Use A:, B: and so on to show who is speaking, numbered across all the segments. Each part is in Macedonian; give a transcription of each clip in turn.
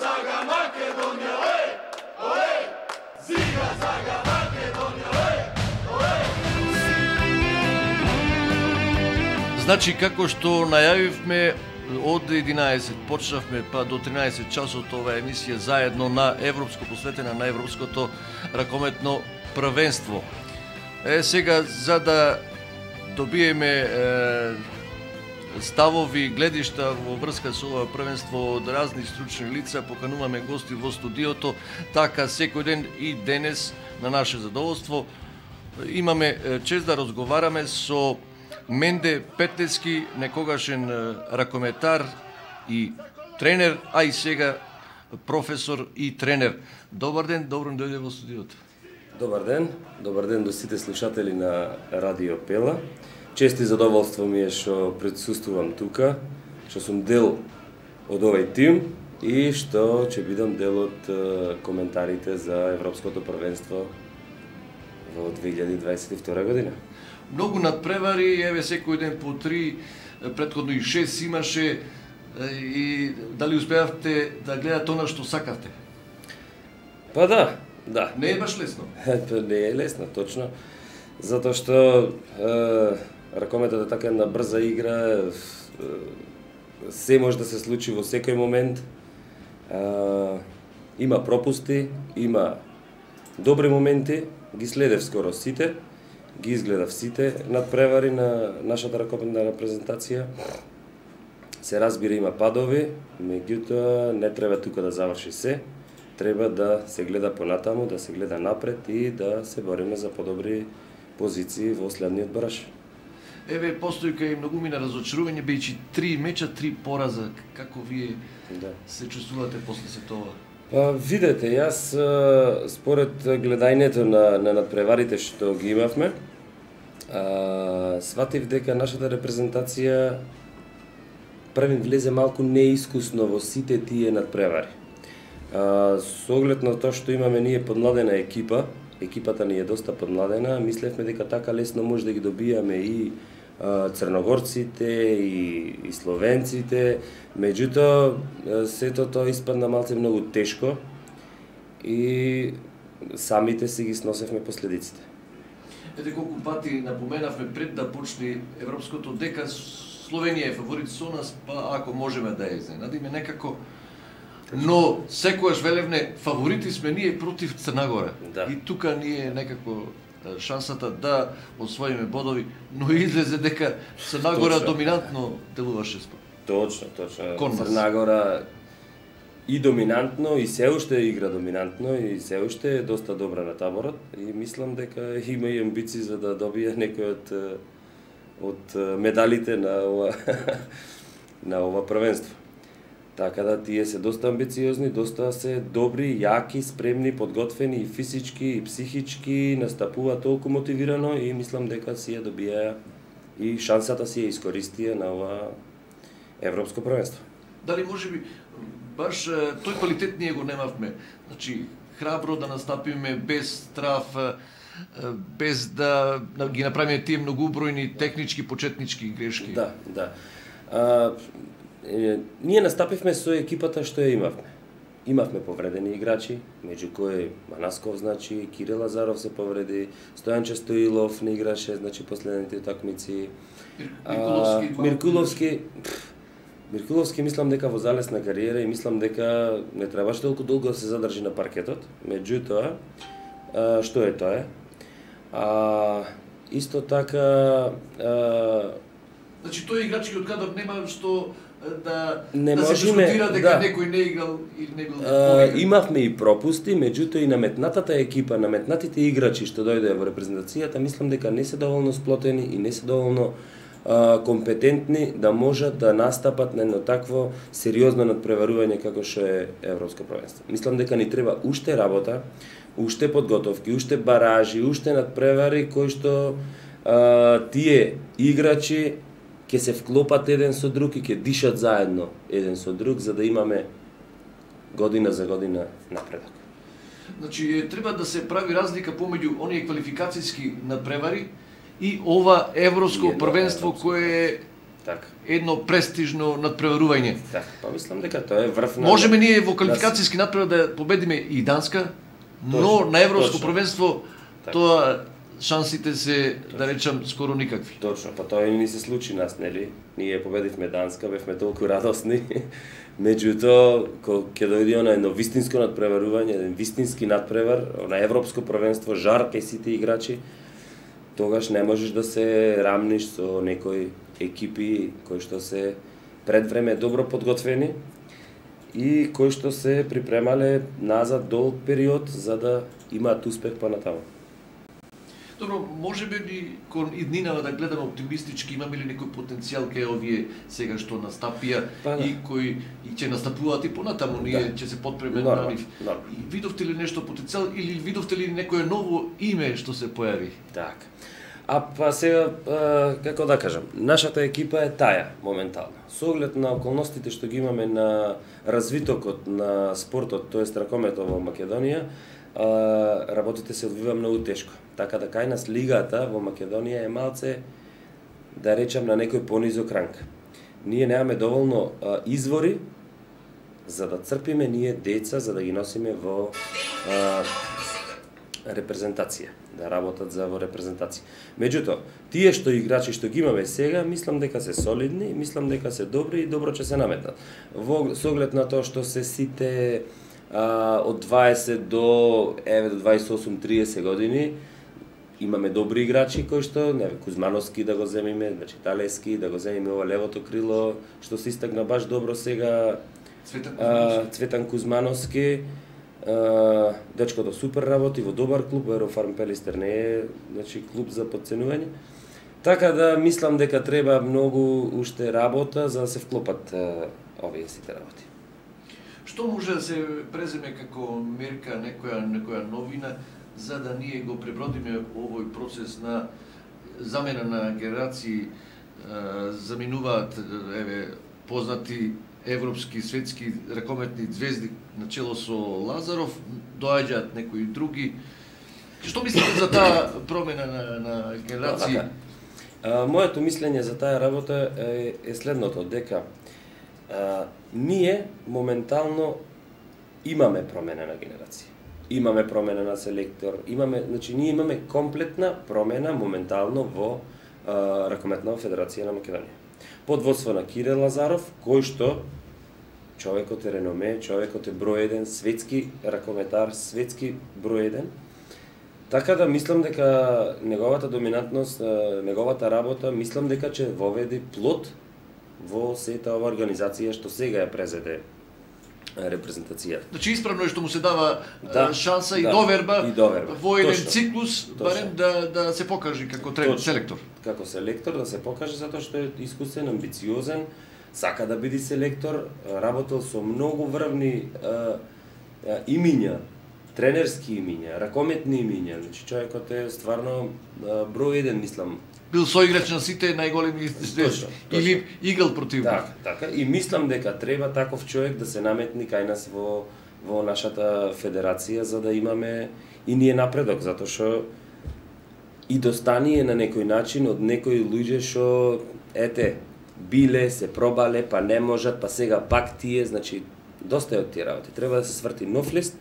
A: zaga Makedonija, oj, ziga zaga Makedonija, oj.
B: Значи, како што најавивме, од 11 почнавме па до 13 часот ова емисија заедно на европско, посветена на европското ракометно првенство. Сега, за да добиеме ставови, гледишта во врска со ова првенство од разни стручни лица, покануваме гости во студиото, така секој ден и денес на наше задоволство имаме чест да разговараме со Менде Петлевски, некогашен ракометар и тренер, а и сега професор и тренер. Добар ден, добро дојде во студиото.
C: Добар ден до сите слушатели на Радио Пела. Чест и задоволство ми е што присуствувам тука, што сум дел од овој тим и што ќе бидам дел од коментарите за Европското првенство во 2022 година.
B: Многу надпревари, еве секој ден по 3, претходно и 6 имаше, и дали успеавте да гледате она што сакавте?
C: Па да.
B: Не е баш лесно?
C: Не е лесно, точно. Затоа што ракометот е така една брза игра, се може да се случи во секој момент. Има пропусти, има добри моменти, ги следев скоро сите, ги изгледав сите надпревари на нашата ракометна репрезентација. Се разбира, има падови, меѓутоа не треба тука да заврши се. Треба да се гледа понатаму, да се гледа напред и да се бориме за подобри позиции во следниот бараж.
B: Еве, постојка и многумина разочарување, бејќи 3 меча, 3 пораза. Како вие се чувствувате после се тоа?
C: Па, видете, јас според гледањето на надпреварите што ги имавме, сватив дека нашата репрезентација првин влезе малку неискусно во сите тие надпревари. Со оглед на тоа што имаме ние подмладена екипа, екипата ни е доста подмладена, мислевме дека така лесно може да ги добијаме и црногорците и словенците, меѓутоа сето тоа испадна малце многу тешко и самите си ги сносевме последиците.
B: Ете колку пати напоменавме пред да почне европското дека Словенија е фаворит со нас, па ако можеме да ја изненадиме некако. Но секогаш велевне фаворити сме ние против Црнагора.
C: Да.
B: И тука ние некако шансата да освоиме бодови, но излезе дека Црнагора доминантно делуваше спорт.
C: Точно.
B: Кон нас.
C: Црнагора и доминантно, и се уште игра доминантно, и се уште е доста добра на таборот. И мислам дека има и амбиции за да добие некој од медалите на ова првенство. Така да тие се доста амбициозни, доста се добри, јаки, спремни, подготвени и физички и психички, настапуваат толку мотивирано и мислам дека си ја добија и шансата си ја искористија на ова европско првенство.
B: Дали можеби баш тој квалитет ние го немавме? Значи, храбро да настапиме без страв, без да ги направиме тие многубројни технички, почетнички грешки.
C: Да. Ние настапивме со екипата што ја имавме. Имавме повредени играчи, меѓу кои Манасков, значи, Кирил Лазаров се повреди, Стојанче Стоилов не играше, значи, последните утакмици. Миркуловски мислам дека во залесна кариера и мислам дека не требаше толку долго да се задржи на паркетот. Меѓутоа, што е тоа? Исто така...
B: Значи, тој играчки од кадар нема што да
C: не
B: се дискутира дека некој не играл или не бил.
C: Имавме и пропусти, меѓутоа и наметнатата екипа, наметнатите играчи што дојдоа во репрезентацијата, мислам дека не се доволно сплотени и не се доволно компетентни да можат да настапат на едно такво сериозно надпреварување како што е Европско првенство. Мислам дека ни треба уште работа, уште подготовки, уште баражи, уште надпревари кои што тие играчи ќе се вклопат еден со друг и ќе дишат заедно еден со друг за да имаме година за година напредок.
B: Значи, треба да се прави разлика помеѓу оние квалификацијски надпревари и ова европско првенство кое е
C: Така.
B: едно престижно надпреварување.
C: Така, па мислам дека тоа е врв на...
B: Можеме ние во квалификацијски надпревар да победиме и Данска, но на европско
C: точно.
B: првенство
C: Така.
B: тоа шансите се, да речам, скоро никакви.
C: Точно, па тоа и ни се случи нас, нели? Ние победивме Данска, бевме толку радосни. Меѓутоа, кога ќе дојде на едно вистинско надпреварување, еден вистински надпревар на европско првенство, жар кај сите играчи, тогаш не можеш да се рамниш со некои екипи кои што се пред време добро подготвени и кои што се припремале назад долг период за да имаат успех па натаму.
B: Добро, можеме ли кон иднинава да гледаме оптимистички, имаме ли некој потенцијал кај овие сега што настапија
C: Па, да.
B: и кои и ќе настапуваат и понатаму, ние ќе се подпреме на нив. И видовте ли нешто потенцијал или видовте ли некое ново име што се појави?
C: Така. А па сега, како да кажам, нашата екипа е таја, моментално. Со оглед на околностите што ги имаме на развитокот на спортот, тоест ракометот во Македонија, работите се одвива многу тешко. Така да кај нас лигата во Македонија е малце, да речам, на некој понизок ранг. Ние немаме доволно извори за да црпиме ние деца, за да ги носиме во репрезентација, да работат за во репрезентација. Меѓутоа, тие што играчи што ги имаме сега, мислам дека се солидни, мислам дека се добри и добро ќе се наметнат. Со оглед на тоа што се сите од 20 до 28-30 години, имаме добри играчи кои што, Кузмановски да го земиме, значи Талески, да го земиме ова левото крило, што се истакна баш добро сега, Цветан Кузмановски, дечкото супер работи во добар клуб, Аерофарм Пелистер не е, значи, клуб за подценување. Така да мислам дека треба многу уште работа за да се вклопат овие сите работи.
B: Што може да се преземе како мерка, некоја новина, за да ние го пребродиме овој процес на замена на генерации, заминуваат познати европски, светски ракометни звезди начело со Лазаров, доаѓаат некои други. Што мислите за таа промена на генерации?
C: Моето мислење за таа работа е следното, дека ние моментално имаме промена на генерација. Имаме промена на селектор, ние имаме комплетна промена моментално во Ракометна федерација на Македонија. Под водство на Кирил Лазаров, кој што човекот е реноме, човекот е број еден, светски ракометар, светски број еден. Така да мислам дека неговата доминантност, неговата работа, мислам дека ќе воведе плод во сета ова организација што сега ја презеде репрезентацијата.
B: Значи исправно е што му се дава шанса и доверба во еден циклус, барем да се покаже како селектор.
C: Како селектор да се покаже затоа што е искусен, амбициозен, сака да биде селектор, работел со многу врвни имиња, тренерски имиња, ракометни имиња. Значи човекот е стварно број еден, мислам.
B: Бил соиграч на сите најголеми звезди или играл против нив.
C: Така, и мислам дека треба таков човек да се наметни кај нас во нашата федерација за да имаме и ние напредок, затоа што и достание на некој начин од некои луѓе што биле, се пробале, па не можат, па сега пак тие, значи доста е од тие работи. Треба да се сврти нов лист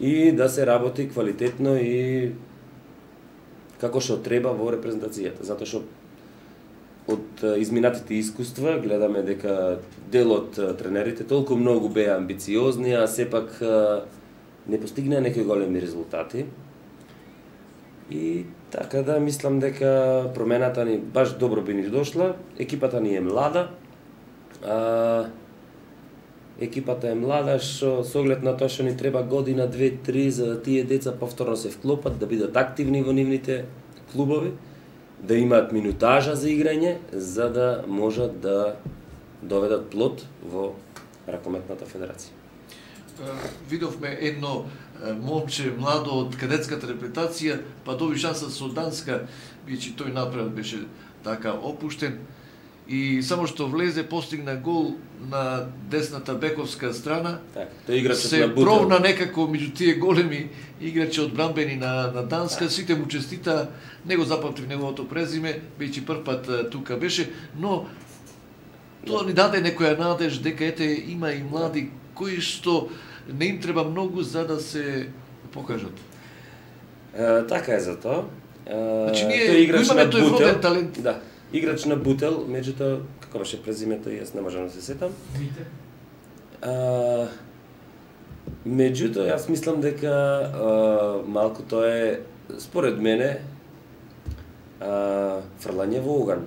C: и да се работи квалитетно и како што треба во репрезентацијата, затоа што од изминатите искуства гледаме дека дел од тренерите толку многу беа амбициозни, а сепак не постигнаа некои големи резултати. И така да мислам дека промената ни баш добро би ни дошла. Екипата ни е млада. Екипата е млада, што со оглед на тоа што ни треба година, 2-3 за да тие деца повторно се вклопат, да бидат активни во нивните клубови, да имаат минутажа за играње, за да можат да доведат плод во Ракометната федерација.
B: Видовме едно момче младо од кадетската репретација, па доби шанса со Данска, бидејќи тој напред беше така опуштен. И само што влезе, постигна гол на десната бековска страна.
C: Тој играчот
B: се
C: на Бутел.
B: пробна некако меѓу тие големи играчи одбранбени на Данска. Сите му честита, не го запамтив неговото презиме, бидејќи прв пат тука беше, но Тоа ни даде некоја надеж дека ете има и млади кои што не им треба многу за да се покажат.
C: Така е за тоа.
B: Значи ние
C: тој играч
B: имаме
C: на
B: тој
C: бутел,
B: вроден талент.
C: Да, играч на бутел, меѓутоа како беше презимето, јас не можам да се сетам. Меѓутоа, јас мислам дека малку тоа е, според мене, фрлање во оган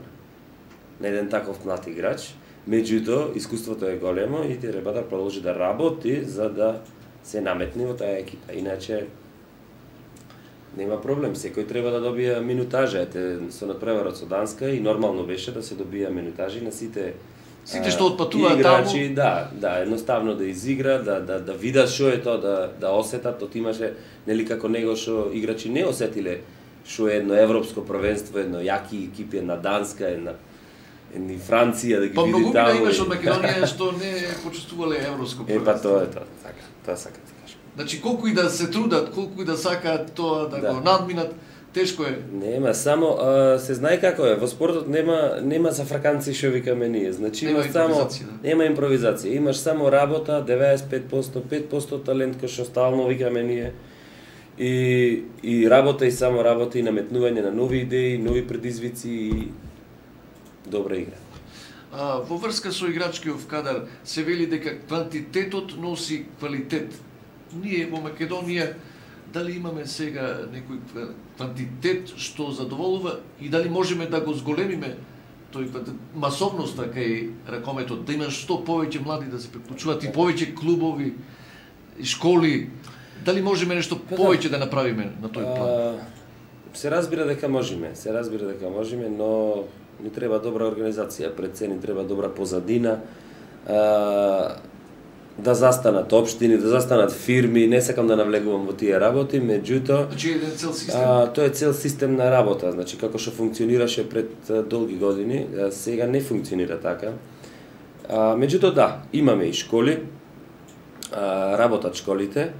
C: на еден таков млад играч. Меѓутоа, искуството е големо и треба да продолжи да работи за да се наметне во таа екипа. Иначе, нема проблем, секој треба да добија минутажа. Ете, со надпреварот со Данска и нормално беше да се добија минутажи на сите
B: што отпатуваат
C: играчи, да, едноставно да изигра, да видат што е тоа, да осетат, тоа имаше нели како него што играчи не осетиле што е едно европско првенство, едно јаки екипи, една Данска, една Франција да ги види таму.
B: Па многу имаш од Македонија што не почувствувале европско првенство.
C: Па тоа е тоа, така, тоа сакам да кажам.
B: Значи колку и да се трудат, колку и да сакаат тоа да го надминат, тешко е.
C: Нема, само се знае како е, во спортот нема за фраканци што викаме ние. Значи
B: нема импровизација,
C: нема импровизација, имаш само работа, 95%, 5% талент кој што стално викаме ние. И работа и само работа и наметнување на нови идеи, нови предизвици и добра игра.
B: Во врска со играчкиот кадар се вели дека квантитетот носи квалитет. Ние во Македонија дали имаме сега некој квантитет што задоволува и дали можеме да го зголемиме тој масовноста кај ракометот, да има што повеќе млади да се приклучуваат и повеќе клубови и школи. Дали можеме нешто повеќе да направиме на тој план?
C: Се разбира дека можеме, но ни треба добра организација, пред се ни треба добра позадина, да застанат општини, да застанат фирми, не сакам да навлегувам во тие работи, меѓутоа
B: Значи еден цел систем.
C: Тоа е цел систем на работа, значи како што функционираше пред долги години, сега не функционира така. Меѓутоа да, имаме и школи, работат школите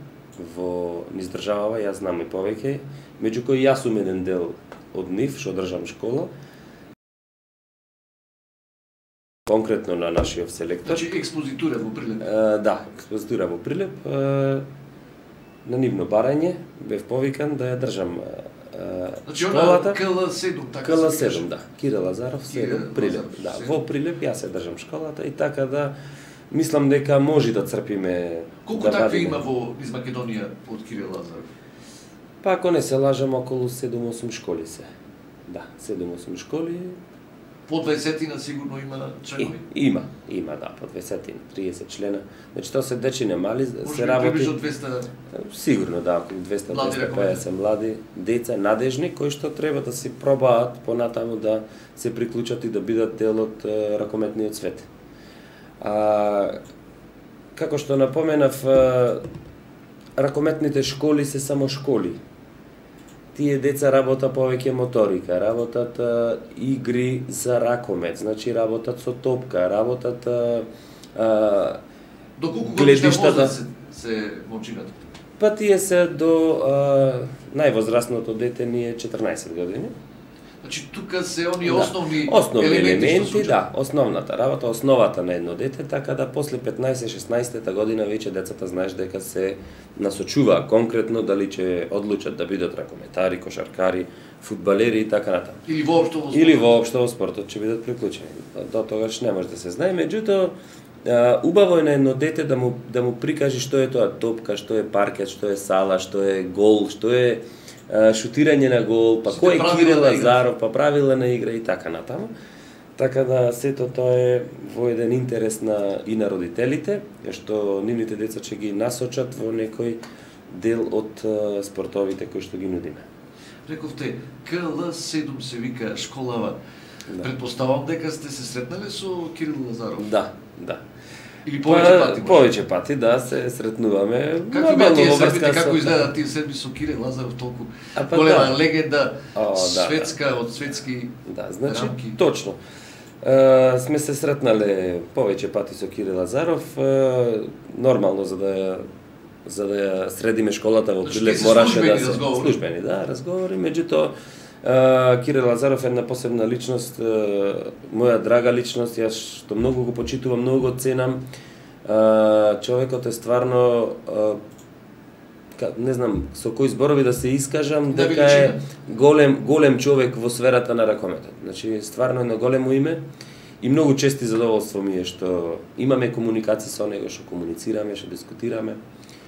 C: во низ државава, јас знам и повеќе, меѓу кои јас сум еден дел од нив, што држам школа. Конкретно на нашиот селектор.
B: Значи експозитура во Прилеп.
C: Да, експозитура во Прилеп. На нивно барање бев повикан да ја држам
B: Значи
C: школата.
B: КЛ7, така
C: КЛ7, да. Кирил Лазаров, 7, Прилеп.
B: Лазаров,
C: Да,
B: 7.
C: во Прилеп јас ја држам школата и така да мислам дека може да црпиме.
B: Колку
C: да
B: такви
C: вадиме.
B: има во низ Македонија од Кирил Лазаров?
C: Па ако не се лажам, околу 7-8 школи се. Да, 7-8 школи.
B: По 20 сигурно има членови.
C: Има, да, по 20, 30 члена. Значи тоа се дечине мали,
B: Може
C: се
B: би
C: работи.
B: приближно 200.
C: Сигурно да, околу 200-250 млади деца, надежни, кои што треба да се пробаат понатаму да се приклучат и да бидат дел од ракометниот свет. Како што напоменав, ракометните школи се само школи. Тие деца работат повеќе моторика, работат игри за ракомет, значи работат со топка, работат
B: До колку годишна
C: гледиштата.
B: возраст се момчината?
C: Па тие се до највозрастното дете ни е 14 години.
B: Значи тука се оние
C: Да.
B: основни
C: Основни елементи,
B: што се
C: да, основната работа, основата на едно дете, така да после 15-16 година веќе децата знаеш дека се насочуваат конкретно дали ќе одлучат да бидат ракометари, кошаркари, фудбалери и така натаму.
B: Или воопшто во
C: Или воопшто во спортот ќе бидат приклучени. До тогаш не може да се знае, меѓутоа убаво е на едно дете да му прикаже што е тоа топка, што е паркет, што е сала, што е гол, што е шутирање на гол, па
B: Сите
C: кој е
B: правила
C: Кирил
B: на игра.
C: Лазаров, па правила на игра и така натаму. Така да сето тоа е во еден интерес и на родителите, што нивните деца ќе ги насочат во некој дел од спортовите кои што ги нудиме.
B: Рековте, КЛ7 се вика школава.
C: Да.
B: Предпоставам дека сте се сретнале со Кирил Лазаров.
C: Да.
B: Или повеќе пати. може?
C: Повеќе пати, да, се сретнуваме.
B: Како беа
C: Нормално
B: тие
C: во
B: седмите,
C: врска
B: како
C: со-
B: изгледаат тие седми со Кирил Лазаров, толку
C: Па
B: голема
C: да.
B: легенда,
C: Да,
B: светска, од светски
C: Да, значи,
B: рамки.
C: точно. Сме се сретнале повеќе пати со Кирил Лазаров, нормално за да ја средиме школата во
B: Значи,
C: Прилеп
B: тие се
C: мораше
B: службени
C: да се
B: разговори.
C: службени, да, разговори, меѓутоа Кире Лазаров е една посебна личност, моја драга личност, јас што многу го почитувам, многу го ценам. Човекот е стварно, не знам со кои зборови да се искажам, дека е голем човек во сферата на ракометот. Значи, стварно едно големо име и многу чести задоволство ми е што имаме комуникација со него, што комуницираме, што дискутираме,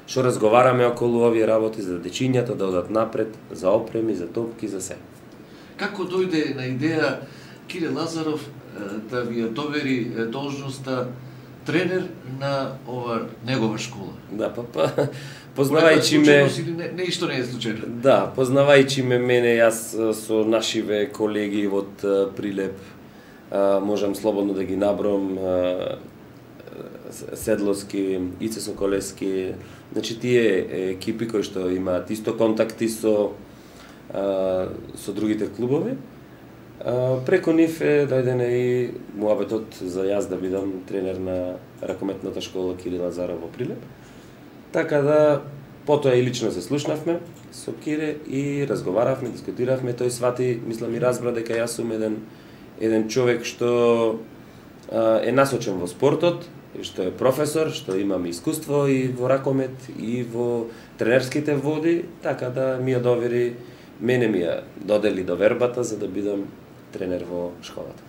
C: што разговараме околу овие работи за дечињата да одат напред, за опреми, за топки, за се.
B: Како дојде на идеја Кире Лазаров да ви ја довери должноста тренер на ова негова школа?
C: Да, познавајќи ме...
B: Не, исто не е случајно.
C: Да, познавајќи мене, јас со нашиве колеги од Прилеп, можам слободно да ги набром, Седловски, Ице Соколевски, значи тие екипи кои што имаат исто контакти со другите клубови. Преко нив е дојден и муабетот за јас да бидам тренер на ракометната школа Кире Лазаров во Прилеп. Така да, потоа и лично се слушнавме со Кире и разговаравме, дискутиравме, тој свати, мислам и разбра дека јас сум еден човек што е насочен во спортот, што е професор, што имам искуство и во ракомет и во тренерските води, така да ми ја довери, мене ми ја додели довербата за да бидам тренер во школата.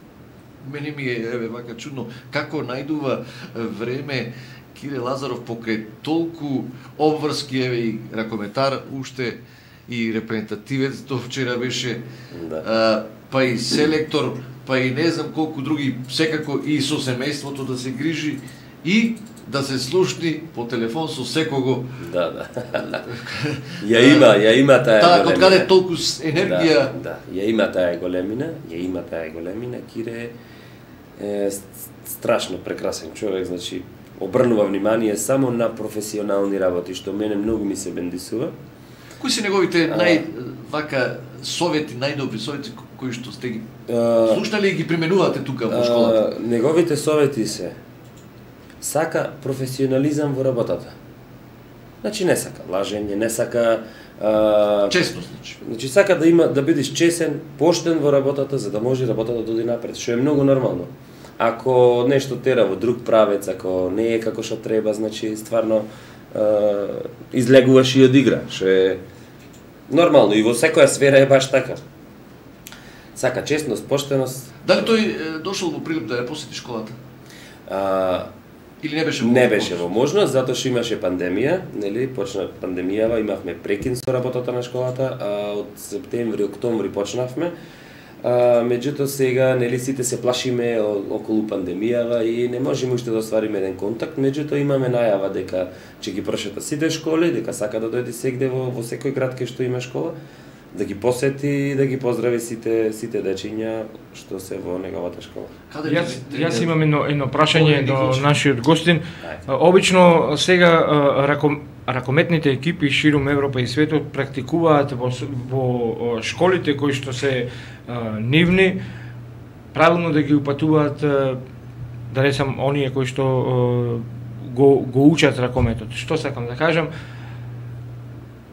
B: Мене ми е вака чудно како најдува време Кире Лазаров покрај толку обврски, и ракометар, уште и репрезентативец, до вчера беше,
C: Да.
B: Па и селектор, па и не знам колку други, секако и со семејството да се грижи и да се слушни по телефон со секого.
C: Да. Ја има таа големина.
B: Од каде толку енергија.
C: Да, ја има таа големина, Кире е страшно прекрасен човек, значи обрнува внимание само на професионални работи, што мене многу ми се бендисува.
B: Кои се неговите најдобри совети кои што сте ги слушнали и ги применувате тука во школата?
C: Неговите совети се: сака професионализам во работата. Значи не сака лажење, не сака
B: Честност,
C: значи сака да бидеш чесен, поштен во работата за да може работата да оди напред, што е многу нормално. Ако нешто тера во друг правец, ако не е како што треба, значи стварно излегуваш и од игра, што е нормално и во секоја сфера е баш така. Сака честност, поштеност.
B: Дали тој дошол во Прилеп да ја посети школата? Или не беше во
C: Не беше во можност, затоа што имаше пандемија, нели, почна пандемијава, имавме прекин со работата на школата, а од септември, октомври почнавме. Меѓутоа сега, нели, сите се плашиме околу пандемијава и не можеме уште да оствариме еден контакт, меѓутоа имаме најава дека ќе ги прошета сите школи, дека сака да дојде сегде во секој град кај што има школа, да ги посети и да ги поздрави сите дечиња што се во неговата школа.
D: Јас имам едно прашање до нашиот гостин. Обично сега ракометните екипи ширум Европа и светот практикуваат во школите кои што се нивни, правилно да ги упатуваат, да речам, оние кои што го учат ракометот. Што сакам да кажам?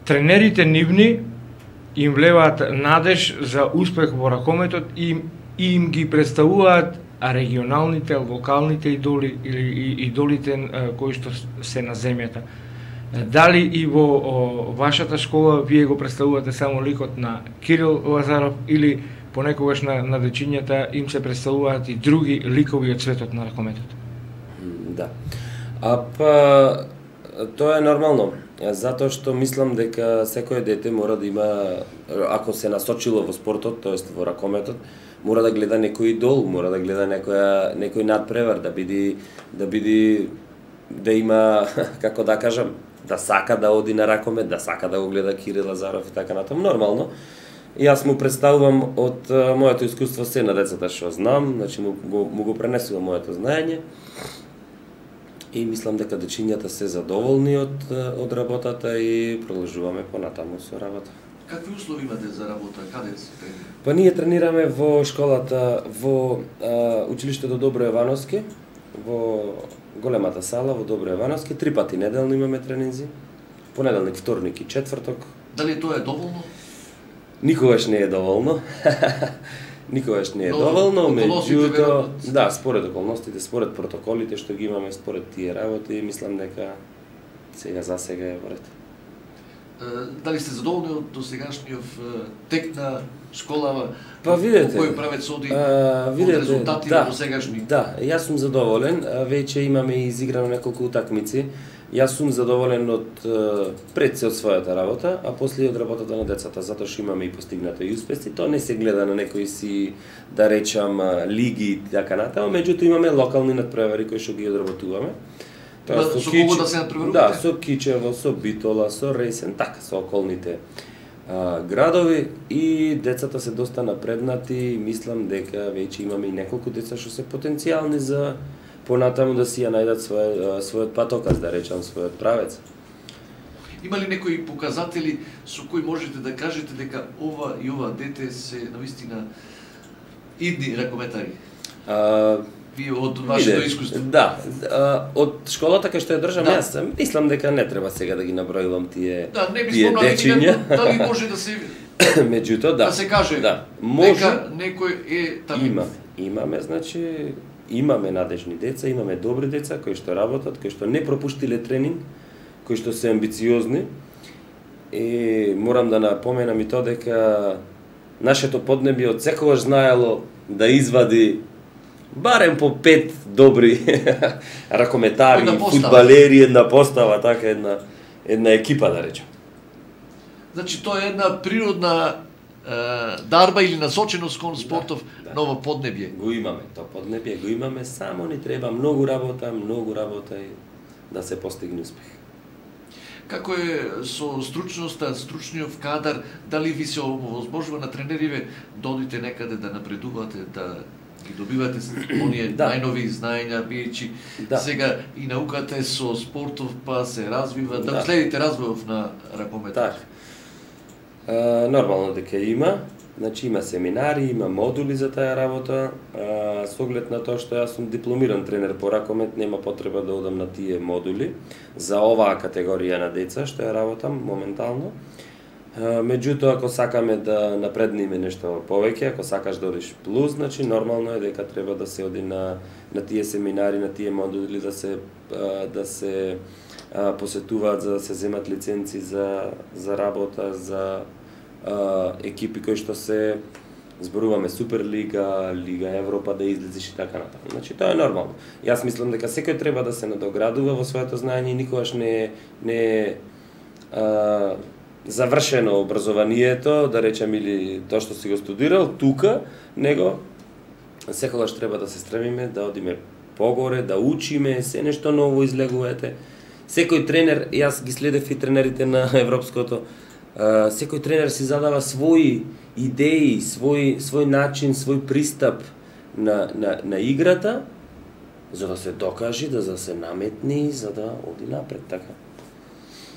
D: Тренерите нивни им влеваат надеж за успех во ракометот и им ги представуваат регионалните, локалните идоли или идолите кои што се на земјата. Дали и во вашата школа вие го представувате само ликот на Кирил Лазаров или понекогаш на дечињата им се представуваат и други ликови од светот на ракометот?
C: Да. Тоа е нормално, затоа што мислам дека секое дете мора да има, ако се насочило во спортот, тоест во ракометот, мора да гледа некој идол, мора да гледа некој надпревар, да има, како да кажам, да сака да оди на ракомет, да сака да го гледа Кире Лазаров и така натаму, нормално. И јас му представувам од моето искуство се на децата што знам, значи му го пренесувам моето знаење. И мислам дека дечињата се задоволни од работата и продолжуваме понатаму со работа.
B: Какви услови имате за работа? Каде се тренирате?
C: Па ние тренираме во школата, во училиштето Добро Евановски, во големата сала во Добро Евановски, 3 пати неделно имаме тренинзи. Понеделник, вторник и четврток.
B: Дали тоа е доволно?
C: Никогаш не е доволно. Никогаш не е доволно, меѓутоа, да, според околностите, според протоколите што ги имаме, според тие работи, мислам дека за сега е во ред.
B: Дали сте задоволни од досегашниот тек на школава?
C: Па видете,
B: кој правец оди од резултати на досегашни?
C: Да, јас сум задоволен, веќе имаме изиграно неколку утакмици. Јас сум задоволен од пред се од својата работа, а после и од работата на децата, затоа што имаме и постигнато и успеси. Тоа не се гледа на некои си, да речам, лиги и така натаму, меѓутоа имаме локални надпревари кои што ги одработуваме.
B: Со кого да се надпреварувате?
C: Да, со Кичево, со Битола, со Ресен, така, со околните градови, и децата се доста напреднати. Мислам дека веќе имаме и неколку деца што се потенцијални за понатаму да си ја најдат својот патоказ, да речам, својот правец.
B: Има ли некои показатели со кои можете да кажете дека ова и ова дете се навистина идни ракометари? Вие од вашето искуство?
C: Да, од школата кај што ја држам јас, мислам дека не треба сега да ги набројувам тие дечиња.
B: Дали може да се
C: меѓутоа да
B: се каже дека некој е талент?
C: Имаме, значи имаме надежни деца, имаме добри деца кои што работат, кои што не пропуштиле тренинг, кои што се амбициозни. И морам да напоменам и тоа дека нашето поднебје од секогаш знаело да извади барем по 5 добри ракометари, фудбалери, една постава, така една екипа, да речем.
B: Значи тоа е една природна дарба или насоченост кон спортов ново поднебје.
C: Го имаме, тоа поднебје го имаме, само ни треба многу работа и да се постигне успех.
B: Како е со стручноста, стручниот кадар, дали ви се овозможува на тренериве да одите некаде да напредувате, да ги добивате оние најнови знаења, бијќи сега и науката е со спортов, па се развива, да следите развојот на ракометар?
C: Нормално дека има, значи има семинари, има модули за таа работа, со оглед на тоа што јас сум дипломиран тренер по ракомет, нема потреба да одам на тие модули за оваа категорија на деца што ја работам моментално. Меѓутоа, ако сакаме да напредниме нешто повеќе, ако сакаш да одиш плюс, значи нормално е дека треба да се оди на тие семинари, на тие модули, да се посетуваат, за да се земат лиценци за работа, за екипи кои што се зборуваме Суперлига, Лига Европа, да излезиш и така натаму. Значи тоа е нормално. Јас мислам дека секој треба да се надоградува во своето знаење и никогаш не е завршено образованието, да речем, или тоа што си го студирал тука, него секогаш треба да се стремиме да одиме погоре, да учиме, се нешто ново излегувате. Секој тренер, јас ги следев и тренерите на европското, секој тренер си задава своји идеи, свој начин, свој пристап на играта, за да се докажи, за да се наметни, за да оди напред, така.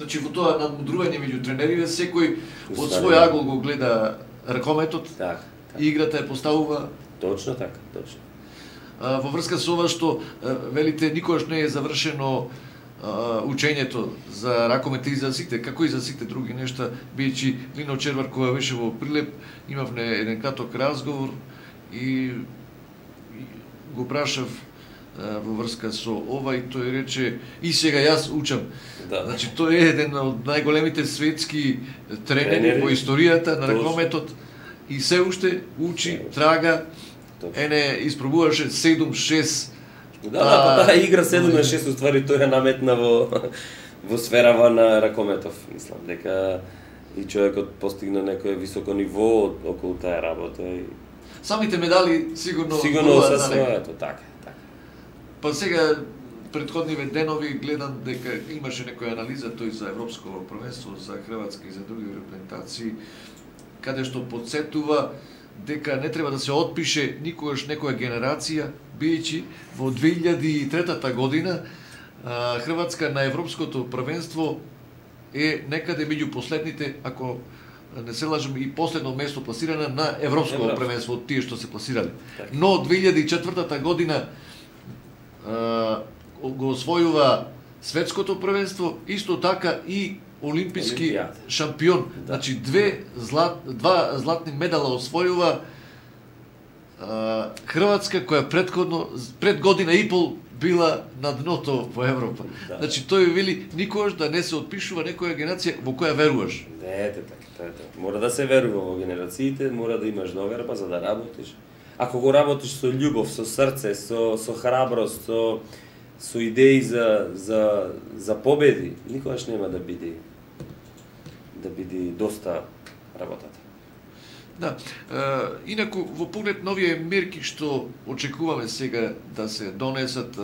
B: Значи во тоа надмудрување меѓу тренериве, секој од свој агол го гледа ракометот, играта ја поставува.
C: Точно така, точно.
B: Во врска со ова што велите никогаш не е завршено учењето за ракомет и за сите, како и за сите други нешта, бијќи Лино Червар кога беше во Прилеп, имавме еден краток разговор и го прашав во врска со ова и тој рече и сега јас учам. Значи тој е еден од најголемите светски тренери во историјата на ракометот и се уште учи, трага, испробуваше 7-6.
C: Да, таа игра 7-6 уствари тој ја наметна во сферава на ракометов. Мислам дека и човекот постигна некое високо ниво околу таа работа и
B: самите медали сигурно
C: со своето, така.
B: Па сега претходниве денови гледам дека имаше некоја анализа тој за европско првенство, за хрватски и за други репрезентации, каде што подсетува дека не треба да се отпише никогаш некоја генерација, бијќи во 2003 година Хрватска на европското првенство е некаде меѓу последните, ако не се лажам, и последно место пласирана на европско првенство од тие што се пласирале. Но 2004 година го освојува светското првенство, исто така и олимписки
C: Олимпијада.
B: шампион. Значи два златни медала освојува Хрватска, која пред година и пол била на дното во Европа.
C: Да.
B: Значи тој вели никогаш да не се отпишува некоја генерација во која веруваш.
C: Не, така. Мора да се верува во генерациите, мора да имаш доверба за да работиш. Ако го работиш со љубов, со срце, со храброст, со идеи за победи, никогаш нема да биде доста работата.
B: Да. Инаку во поглед на овие мерки што очекуваме сега да се донесат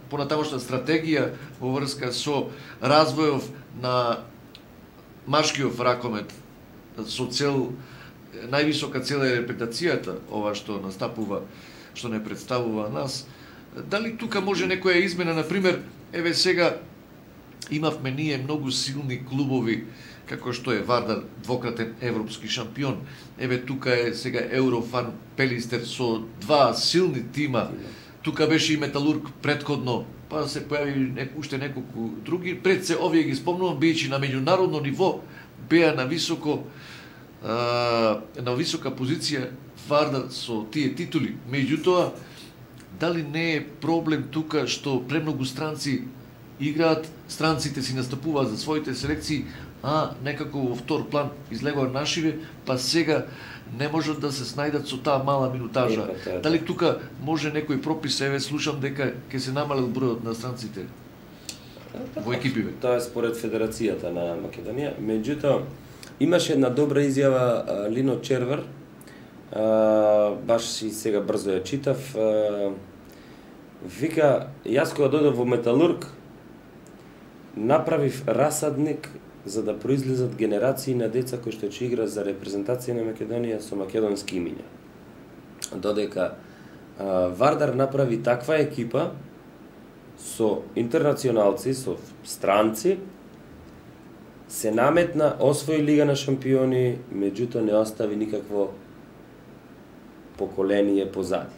B: понатамошна стратегија во врска со развојов на машкиот ракомет со цел највисока цел е репретацијата, ова што настапува, што не представува нас. Дали тука може некоја измена, на пример, еве сега имавме ние многу силни клубови како што е Вардар, двократен европски шампион. Еве тука е сега Еврофан Пелистер со два силни тима. Тука беше и Металург претходно, па се појави уште неколку други. Пред се овие ги спомнувам, бијќи на меѓународно ниво беа на висока позиција Вардар со тие титули. Меѓутоа, дали не е проблем тука што премногу странци играат, странците си настапуваат за своите селекции, а некако во втор план излегуваат нашиве, па сега не можат да се снајдат со таа мала минутажа. Дали тука може некој пропис, еве слушам дека ќе се намалел бројот на странците во екипиве?
C: Тоа е според Федерацијата на Македонија. Меѓутоа, имаше една добра изјава Лино Червар, баш и сега брзо ја читав. Вика, јас кога додов во Металург, направив расадник за да произлезат генерации на деца кои што ќе играат за репрезентација на Македонија со македонски имиња. Додека Вардар направи таква екипа со интернационалци, со странци, се наметна, освои Лига на шампиони, меѓутоа не остави никакво поколение позади.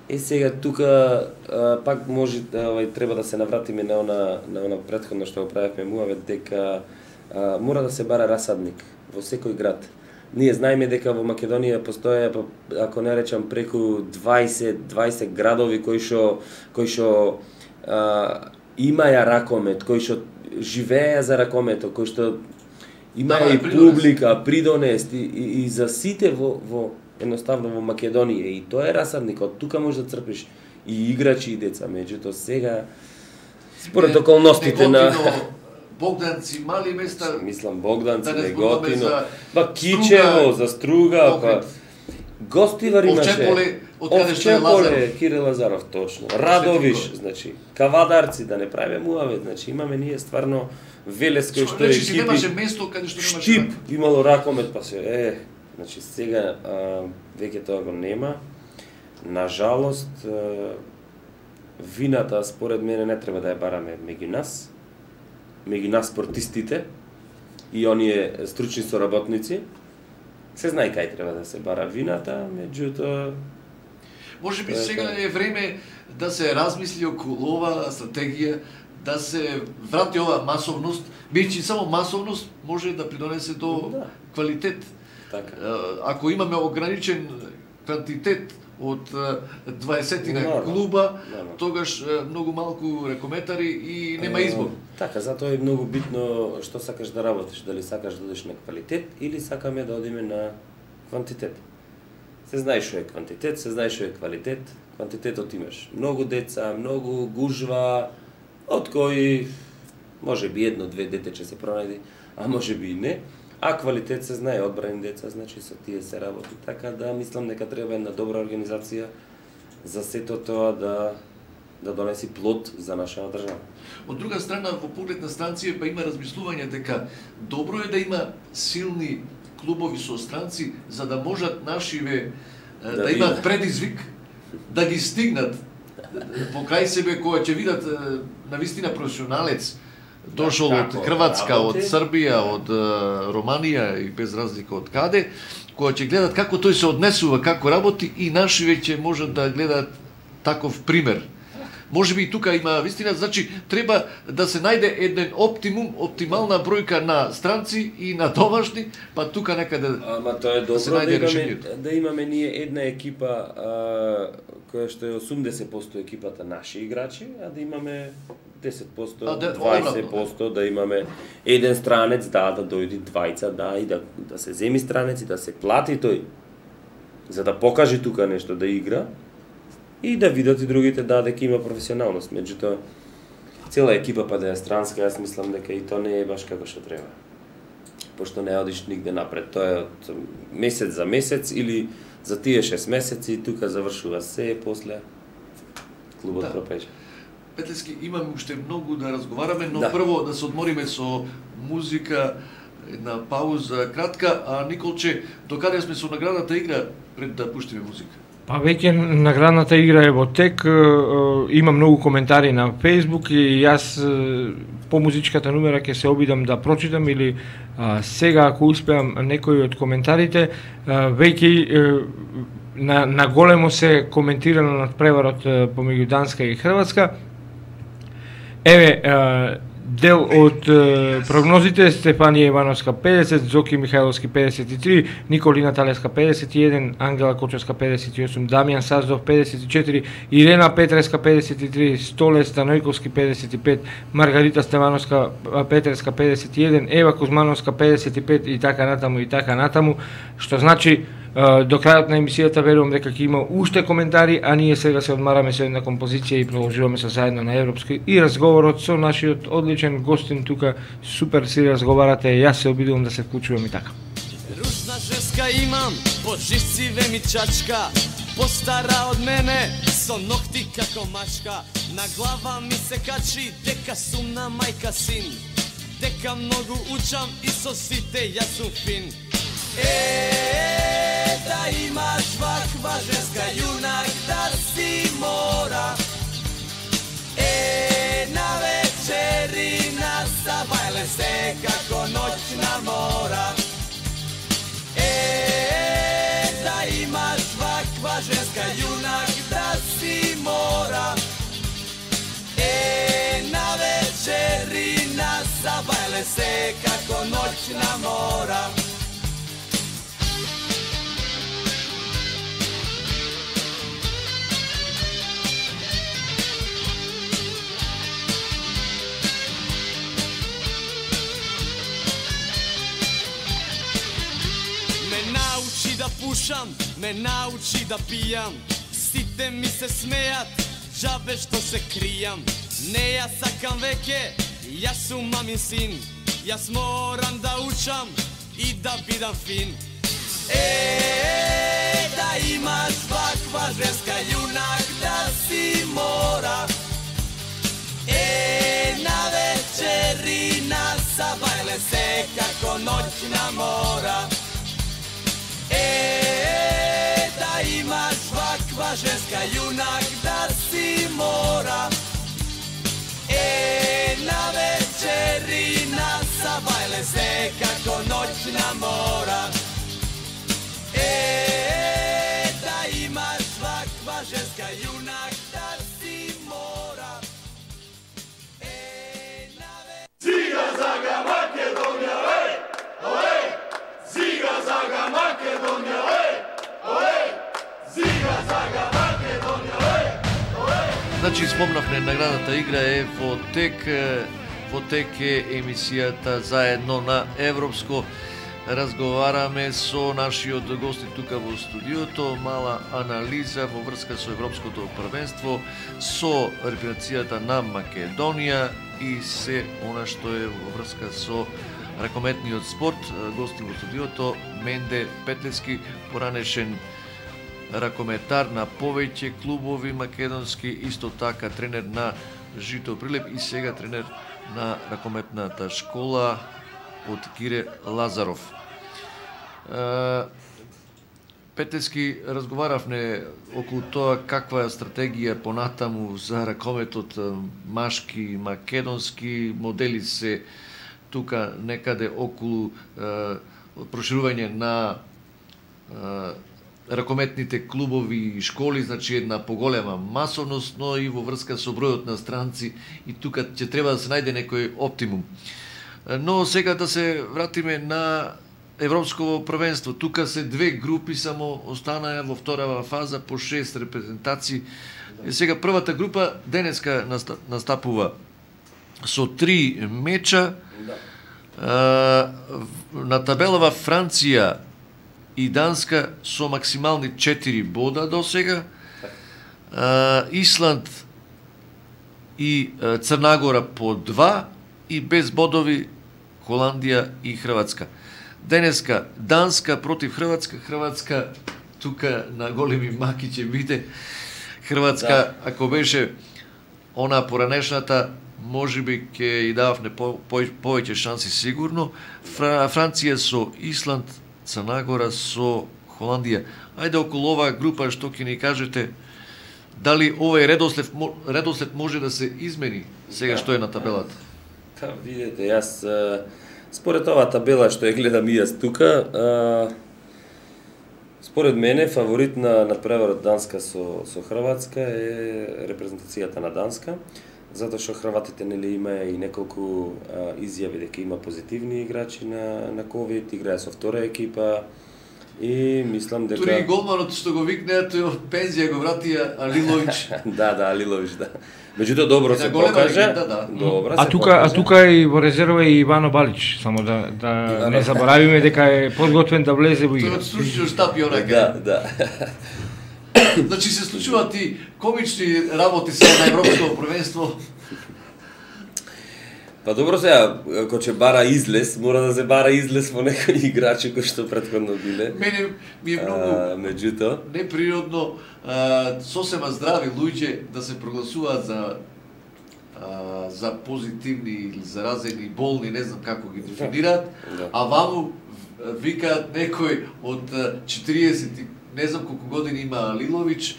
C: И сега тука пак може треба да се навратиме на она претходно што го правевме муавет, дека мора да се бара расадник во секој град. Ние знаеме дека во Македонија постоја, ако не речам, преку 20 градови кои што имаја ракомет, кои што живееа за ракометот, кои што имаја и публика, придонест и за сите во едноставно во Македонија, и тоа е расадникот. Тука може да црпиш и играчи и деца, меѓутоа сега според околностите на
B: Богданци, мали места,
C: мислам Богданци,
B: да
C: Неготино, Кичево, за Струга, па Гостивар имаше,
B: Овчеполе, од каде што е Лазаров,
C: Кире Лазаров, точно. Радовиш, значи, Кавадарци, да не правиме муавет, значи имаме ние стварно Велес кој што е екипи.
B: Значи немаше место каде што немаше
C: Штип, имало ракомет, па се значи сега веќе тоа го нема. Нажалост, вината според мене не треба да ја бараме меѓу нас спортистите и оние стручни соработници. Се знае кај треба да се бара вината, меѓутоа
B: може би сега е време да се размисли околу ова стратегија, да се врати ова масовност, бидејќи само масовност може да придонесе до квалитет.
C: Така.
B: Ако имаме ограничен квантитет од 20 клуба, тогаш многу малку ракометари и нема избор.
C: Така, затоа е многу битно што сакаш да работиш, дали сакаш да одиш на квалитет или сакаме да одиме на квантитет. Се знае што е квантитет, се знае што е квалитет. Квантитетот имаш многу деца, многу гужва, од кои може би едно-две дете ќе се пронајде, а може би и не. А квалитет се знае, одбрани деца, значи со тие се работи. Така да мислам дека треба една добра организација за сето тоа да донеси плод за нашата држава.
B: Од друга страна, во поглед на странци па има размислување дека добро е да има силни клубови со странци за да можат нашиве да имаат предизвик да ги стигнат покрај себе кога ќе видат навистина професионалец дошол од Хрватска, од Србија, од Романија и без разлика од каде, кога ќе гледат како тој се однесува, како работи и нашиве ќе можат да гледаат таков пример. Можеби и тука има вистина, значи треба да се најде еден оптимална бројка на странци и на домашни, па тука некаде
C: Ама тоа е добро
B: се најде
C: да имаме ние една екипа која што е 80% екипата наши играчи, а да имаме 10%, 20%, да имаме еден странец, да дојди двајца, и да се земи странец и да се плати тој, за да покаже тука нешто да игра и да видат и другите дека има професионалност. Меѓутоа, цела екипа па да е странска, јас мислам дека и тоа не е баш како што треба. Пошто не одиш нигде напред, тоа е од месец за месец или за тие 6 месеци, тука завршува се, после клубот пропече.
B: Петлевски, имаме уште многу да разговараме, но прво да се одмориме со музика, една пауза кратка, а Николче, докаде сме со наградната игра пред да пуштиме музика?
D: Па веќе наградната игра е во тек, има многу коментари на Facebook и јас по музичката номера ќе се обидам да прочитам или сега ако успеам некои од коментарите, веќе на големо се коментирано над преварот помеѓу Данска и Хрватска. Еве, дел од прогнозите: Стефанија Ивановска 50, Зоки Михајловски 53, Николина Талеска 51, Ангела Кочевска 58, Дамјан Саздов 54, Ирена Петреска 53, Столе Станојковски 55, Маргарита Стевановска Петреска 51, Ева Кузмановска 55 и така натаму, што значи до крајот на емисијата верувам дека ќе има уште коментари, а ние сега се одмараме со една композиција и продолжуваме со заедно на европски и разговорот со нашиот одличен гостин тука. Супер си разговарате, јас се обидувам да се вклучувам и така.
E: Ружна женска имам, по жисциве ми чачка, постара од мене, со ногти како мачка. На глава ми се качи дека сум на мајка син, дека многу учам и со сите јас сум фин. Да имаш ваква женска јунак да си мора, на вечерина забајле се како ноќна мора. Да имаш ваква женска јунак да си мора, на вечерина забајле се како ноќна мора. Да пушам, ме научи да пијам, сите ми се смејат, џабе што се кријам. Не ја сакам веќе, јас сум мамин син, јас морам да учам и да бидам фин. Да имаш ваква женска јунак да си мора, на вечерина забајле се како ноќна мора. Да имаш ваква женска јунак да си мора, на вечерина забајле се како ноќна мора. Да имаш ваква женска јунак да си мора.
A: Ziga zaga Makedonija, Ziga zaga Makedonija, Ziga zaga Makedonija,
B: Значи, спомнавме, наградната игра е во тек е емисијата заедно на Европско. Разговараме со нашиот гости тука во студиото, мала анализа во врска со Европското првенство, со репрезентацијата на Македонија и се она што е во врска со ракометниот спорт. Гости во студиото Менде Петлевски, поранешен ракометар на повеќе клубови македонски, исто така тренер на Жито Прилеп и сега тренер на ракометната школа од Кире Лазаров. Петлевски, разговаравме околу тоа каква е стратегија понатаму за ракометот машки, македонски, модели се тука некаде околу проширување на ракометните клубови и школи, значи една поголема масовност, но и во врска со бројот на странци, и тука ќе треба да се најде некој оптимум. Но сега да се вратиме на Европско првенство. Тука се две групи само останаа во вторава фаза по 6 репрезентации. Сега првата група денеска настапува со 3 меча. На табелава Франција и Данска со максимални 4 бода до сега. Исланд и Црна по 2 и без бодови Холандија и Хрватска. Денеска Данска против Хрватска. Хрватска тука на големи маки ќе биде. Хрватска, ако беше она поранешната, можеби ќе и дававне повеќе шанси сигурно. Франција со Исланд, Црна Гора со Холандија. Ајде околу оваа група што ќе ни кажете, дали овој редослед може да се измени сега што е на табелата?
C: Видете, јас според оваа табела што ја гледам и јас тука, според мене фаворит на надпреварот Данска со Хрватска е репрезентацијата на Данска, затоа што хрватите нели имаа и неколку изјави дека има позитивни играчи на ковид, играе со втора екипа и мислам дека
B: Тури голманот што го викнеа тој од пензија го вратија Алилович.
C: Да, Алилович, да. Меѓутоа добро се покажа. Добро.
D: А тука и во резерва и Ивано Балич, само да не заборавиме дека е подготвен да влезе во игра.
B: Тој од стручниот штаб и онака.
C: Да.
B: Значи се случуваат и комични работи сега на Европско првенство.
C: Па добро сега, ако ќе бара излез, мора да се бара излез во некои играчи кои што претходно биле.
B: Мене ми е многу
C: меѓутоа
B: неприродно сосема здрави луѓе да се прогласуваат за позитивни или заразени, болни, не знам како ги дефинираат, а ваму викаат некој од 40 не знам колку години има Лилович,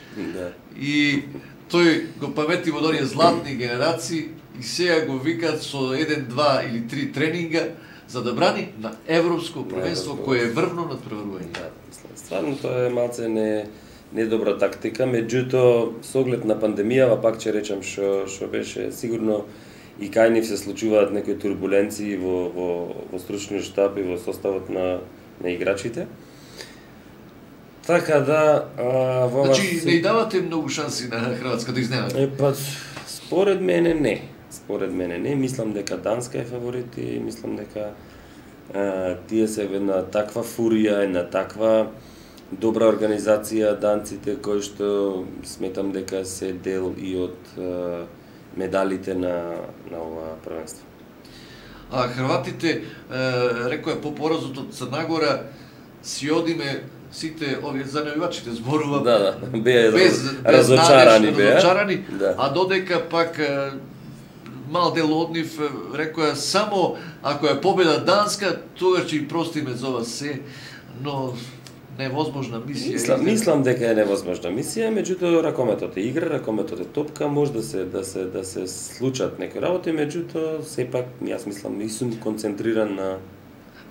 B: и тој го памети во оние златни генерации, и сега го викаат со 1, 2 или 3 тренинга за да брани на Европско првенство кое е врвно надпреварување.
C: Стварно тоа е малце недобра тактика, меѓутоа со оглед на пандемијава пак ќе речам што беше сигурно и кај нив се случуваат некои турбуленции во стручниот штаб и во составот на играчите. Така да
B: значи не давате многу шанси на Хрватска да изненади.
C: Па според мене не. Мислам дека Данска е фаворит и мислам дека тие се на таква фурија, на таква добра организација данците кои што сметам дека се дел и од медалите на ова првенство.
B: А хрватите, рекоја по поразот од Црна Гора, си одиме сите овие занемивачите зборува
C: беа разочарани,
B: а додека пак мал дел од нив рекоја само ако е победа Данска, тогаш ќе и простиме за ова се, но невозможна мисија.
C: Мислам дека е невозможна мисија, меѓутоа ракометот е игра, ракометот е топка, може да се случат некои работи, меѓутоа сепак јас мислам не сум концентриран на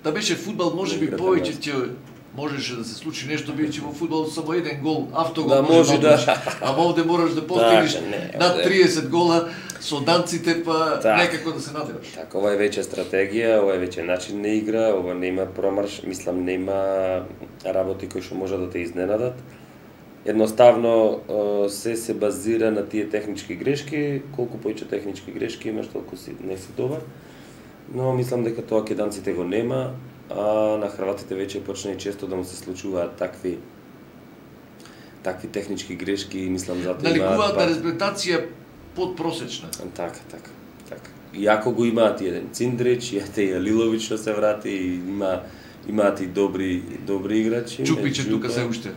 B: да беше фудбал, можеби повеќе ќе можеше да се случи нешто, бидејќи во фудбал само еден гол, автогол може да ама овде мораш да постигнеш над 30 гола со данците, па некако да се надеваш.
C: Така, ова е веќе стратегија, ова е веќе начин на игра, ова нема промарш, мислам нема работи кои што можат да те изненадат. Едноставно се базира на тие технички грешки, колку повеќе технички грешки имаш, толку не си добар. Но мислам дека тоа ке данците го нема, а на хрватите веќе почна и често да му се случуваат такви технички грешки и мислам затоа
B: наликуваат на реабилитација подпросечна.
C: Така. Иако го имаат и еден Циндрич, и Алилович што се врати, и имаат и добри играчи.
B: Чупиче тука се уште.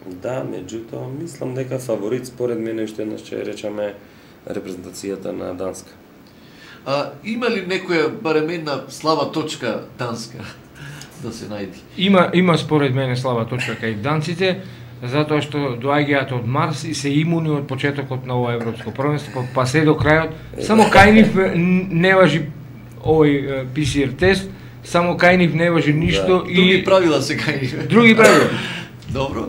C: Да, меѓутоа мислам дека фаворит според мене уште еднаш ќе речеме репрезентацијата на Данска.
B: Има ли некоја барем една слаба точка Данска да се најди?
D: Има според мене слаба точка кај данците, затоа што доаѓаат од Марс и се имуни од почетокот на ова европско првенство, па се до крајот. Само кај нив не важи овој PCR тест, само кај нив не важи ништо
B: и други правила се кај нив.
D: Други правила.
B: Добро.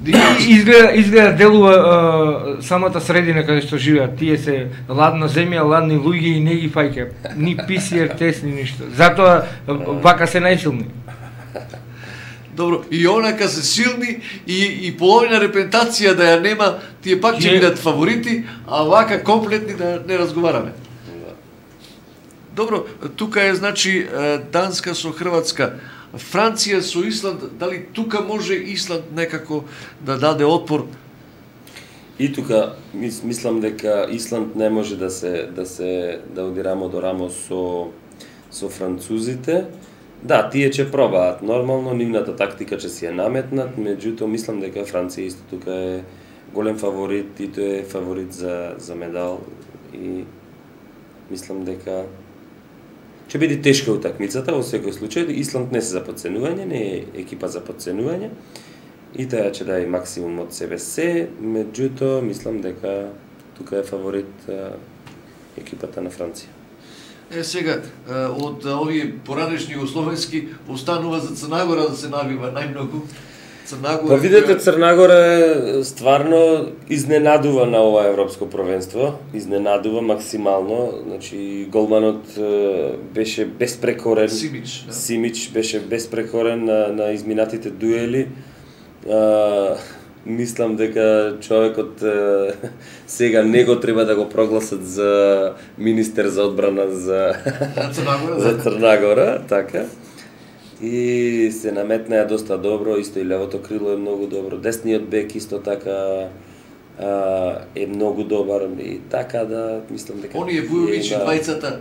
D: Изгледа делува самата средина каде што живеат. Тие се ладна земја, ладни луѓе и не ги фаќа. Ни PCR тест, ни ништо. Затоа вака се најсилни.
B: Добро, и онака се силни и половина репрезентација да ја нема, тие пак ќе бидат фаворити, а вака комплетни да не разговараме. Добро, тука е значи Данска со Хрватска, Франција со Исланд, дали тука може Исланд некако да даде отпор?
C: И тука мислам дека Исланд не може да оди рамо до рамо со французите. Да, тие ќе пробаат нормално, нивната тактика ќе си ја наметнат, меѓутоа мислам дека Франција исто тука е голем фаворит и тој е фаворит за медал и мислам дека ќе биде тешка утакмицата во секој случај. Исланд не се за подценување, не е екипа за подценување и таа ќе даде максимум од себе се, меѓутоа мислам дека тука е фаворит екипата на Франција.
B: Сега, од овие поранешни југословенски останува за Црнагора да се навива најмногу.
C: Па видете, Црнагора стварно изненадува на ова европско првенство, изненадува максимално, значи голманот беше безпрекорен. Симич беше безпрекорен на изминатите дуели. Мислам дека човекот сега него треба да го прогласат за министер за одбрана за Црнагора, така. И се наметнаа доста добро, исто и левото крило е многу добро, десниот бек исто така е многу добар и така да мислам дека
B: оние Вујовичи двајцата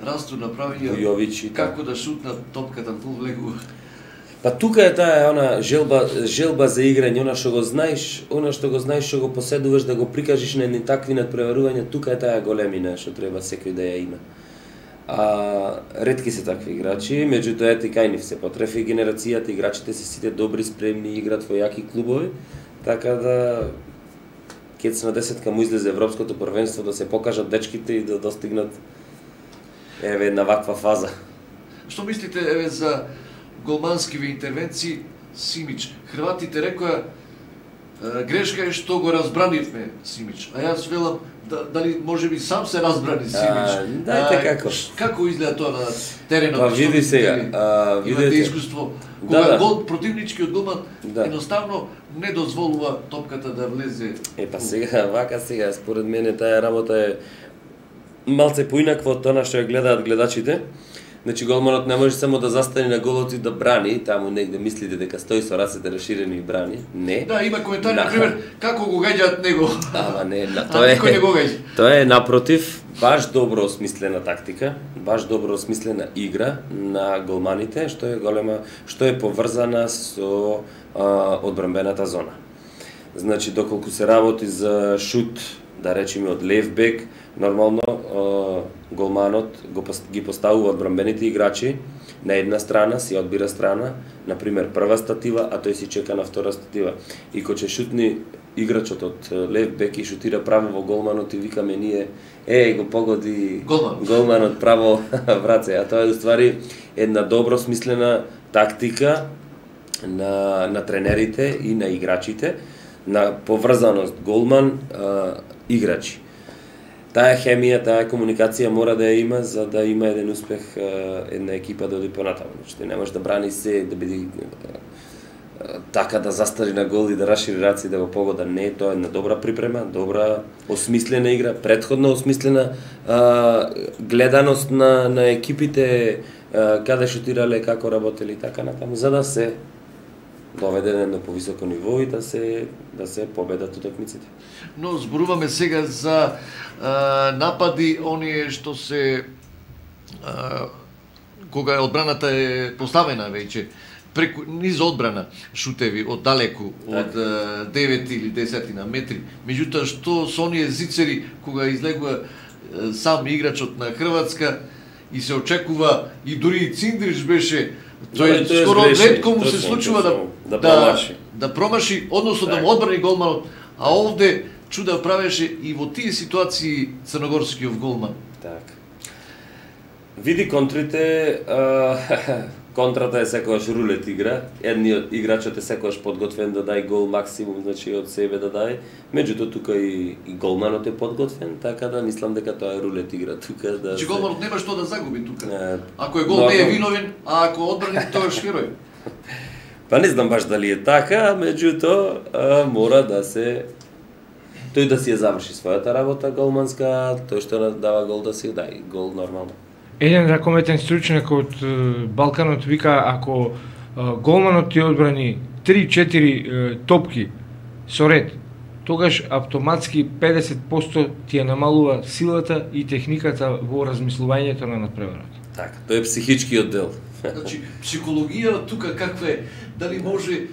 B: расту направија
C: Вујовичи
B: како да шутнат топката во влегува.
C: Па тука е таа она желба за играње, она што го знаеш, што го поседуваш да го прикажеш на едни такви надпреварувања, тука е таа големина што треба секој да ја има. Ретки се такви играчи, меѓутоа ете кај нив се потрефи генерацијата, играчите се сите добри, спремни, играат во јаки клубови, така да кец на 10 му излезе европското првенство да се покажат дечките и да достигнат една ваква фаза.
B: Што мислите за голманскиве интервенции Симич? Хрватите рекоа грешка е што го разбранивме Симич, а јас велам дали може би сам се разбрани Симич.
C: Дајте како.
B: Како изгледа тоа на теренот?
C: Па види сега,
B: имате искуство. Кога гол противничкиот голман едноставно не дозволува топката да влезе.
C: Па сега според мене таа работа е малце поинаква од тоа што ја гледаат гледачите. Значи голманот не може само да застане на голот и да брани, таму негде мислите дека стои со рацете расширени и брани. Не.
B: Да, има коментари на пример како го гаѓаат него.
C: Ама не,
B: тоа
C: е напротив баш добро осмислена тактика, баш добро осмислена игра на голманите, што е поврзана со одбранбената зона. Значи доколку се работи за шут, да речеме од лев бек, нормално голманот ги поставува одбранбените играчи на една страна, си одбира страна, например прва статива, а тој си чека на втора статива. И кога ќе шутни играчот од лев бек и шутира право во голманот и викаме ние го погоди голманот право враце, а тоа е уствари една добро смислена тактика на тренерите и на играчите, на поврзаност голман играчи. Таа хемија, таа комуникација мора да ја има за да има еден успех една екипа да оди понатаму. Значи не може да брани се, да биде така да застари на гол и да расшири раци да го погода. Не, тоа е една добра припрема, добра осмислена игра, претходно осмислена гледаност на екипите каде шутирале, како работели така натаму, за да се доведе на едно повисоко ниво и да се победат утакмиците.
B: Но зборуваме сега за напади, оние што се кога одбраната е поставена веќе низ одбрана шутеви од далеку, од 9 или 10 на метри. Меѓутоа што со оние зицери кога излегува сам играчот на Хрватска и се очекува и дури и Циндрич беше тој скоро ретко му се случува да промаши, односно да му одбрани голманот, а овде чуда правеше и во тие ситуации црногорскиот голман.
C: Така. Види контрите, контрата е секогаш рулет игра. Едниот играчот е секогаш подготвен да дај гол максимум, значи од себе да дај. Меѓутоа тука и голманот е подготвен, така да мислам дека тоа е рулет игра тука да.
B: Значи голманот нема што да загуби тука. Ако е гол не е виновен, а ако одбрани тоа е герој.
C: Па не знам баш дали е така, меѓутоа мора да се тој да си ја заврши својата работа голманска, тој што дава гол да си дај гол нормално.
D: Еден ракометен стручнак од Балканот вика ако голманот ти одбрани 3-4 топки со ред, тогаш автоматски 50% ти ја намалува силата и техниката во размислувањето на надпреварот.
C: Така, тој е психичкиот дел.
B: Значи, психологија тука каква е? Дали може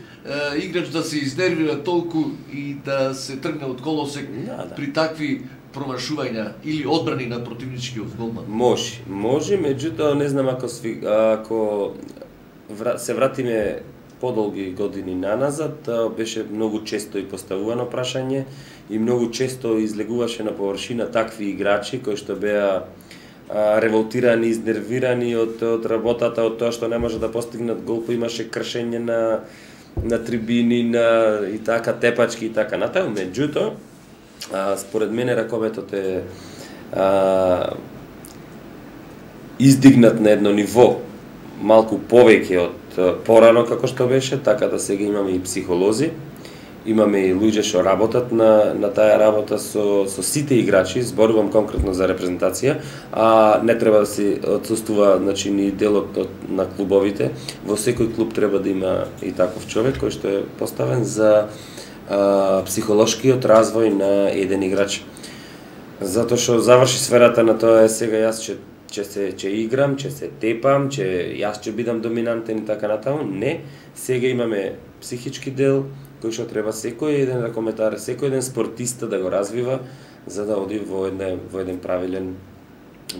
B: играч да се изнервира толку и да се тргне од колосек при такви промашувања или одбрани на противничкиот голман?
C: Може, меѓутоа не знам ако се вратиме подолги години наназад, беше многу често и поставувано прашање и многу често излегуваше на површина такви играчи кои што беа револтирани, изнервирани од работата, од тоа што не може да постигнат гол, имаше кршење на трибини, и така тепачки и така натаму. Меѓутоа, според мене ракометот е издигнат на едно ниво малку повеќе од порано како што беше, така да сега имаме и психолози, имаме и луѓе што работат на таа работа со сите играчи, зборувам конкретно за репрезентација, а не треба да се отсуствува, значи, ни делот на клубовите. Во секој клуб треба да има и таков човек кој што е поставен за психолошкиот развој на еден играч. Затоа што заврши сферата на тоа сега јас ќе играм, ќе се тепам, јас ќе бидам доминантен и така натаму. Не, сега имаме психички дел кој што треба секој еден ракометар, секој еден спортиста да го развива за да оди во еден правилен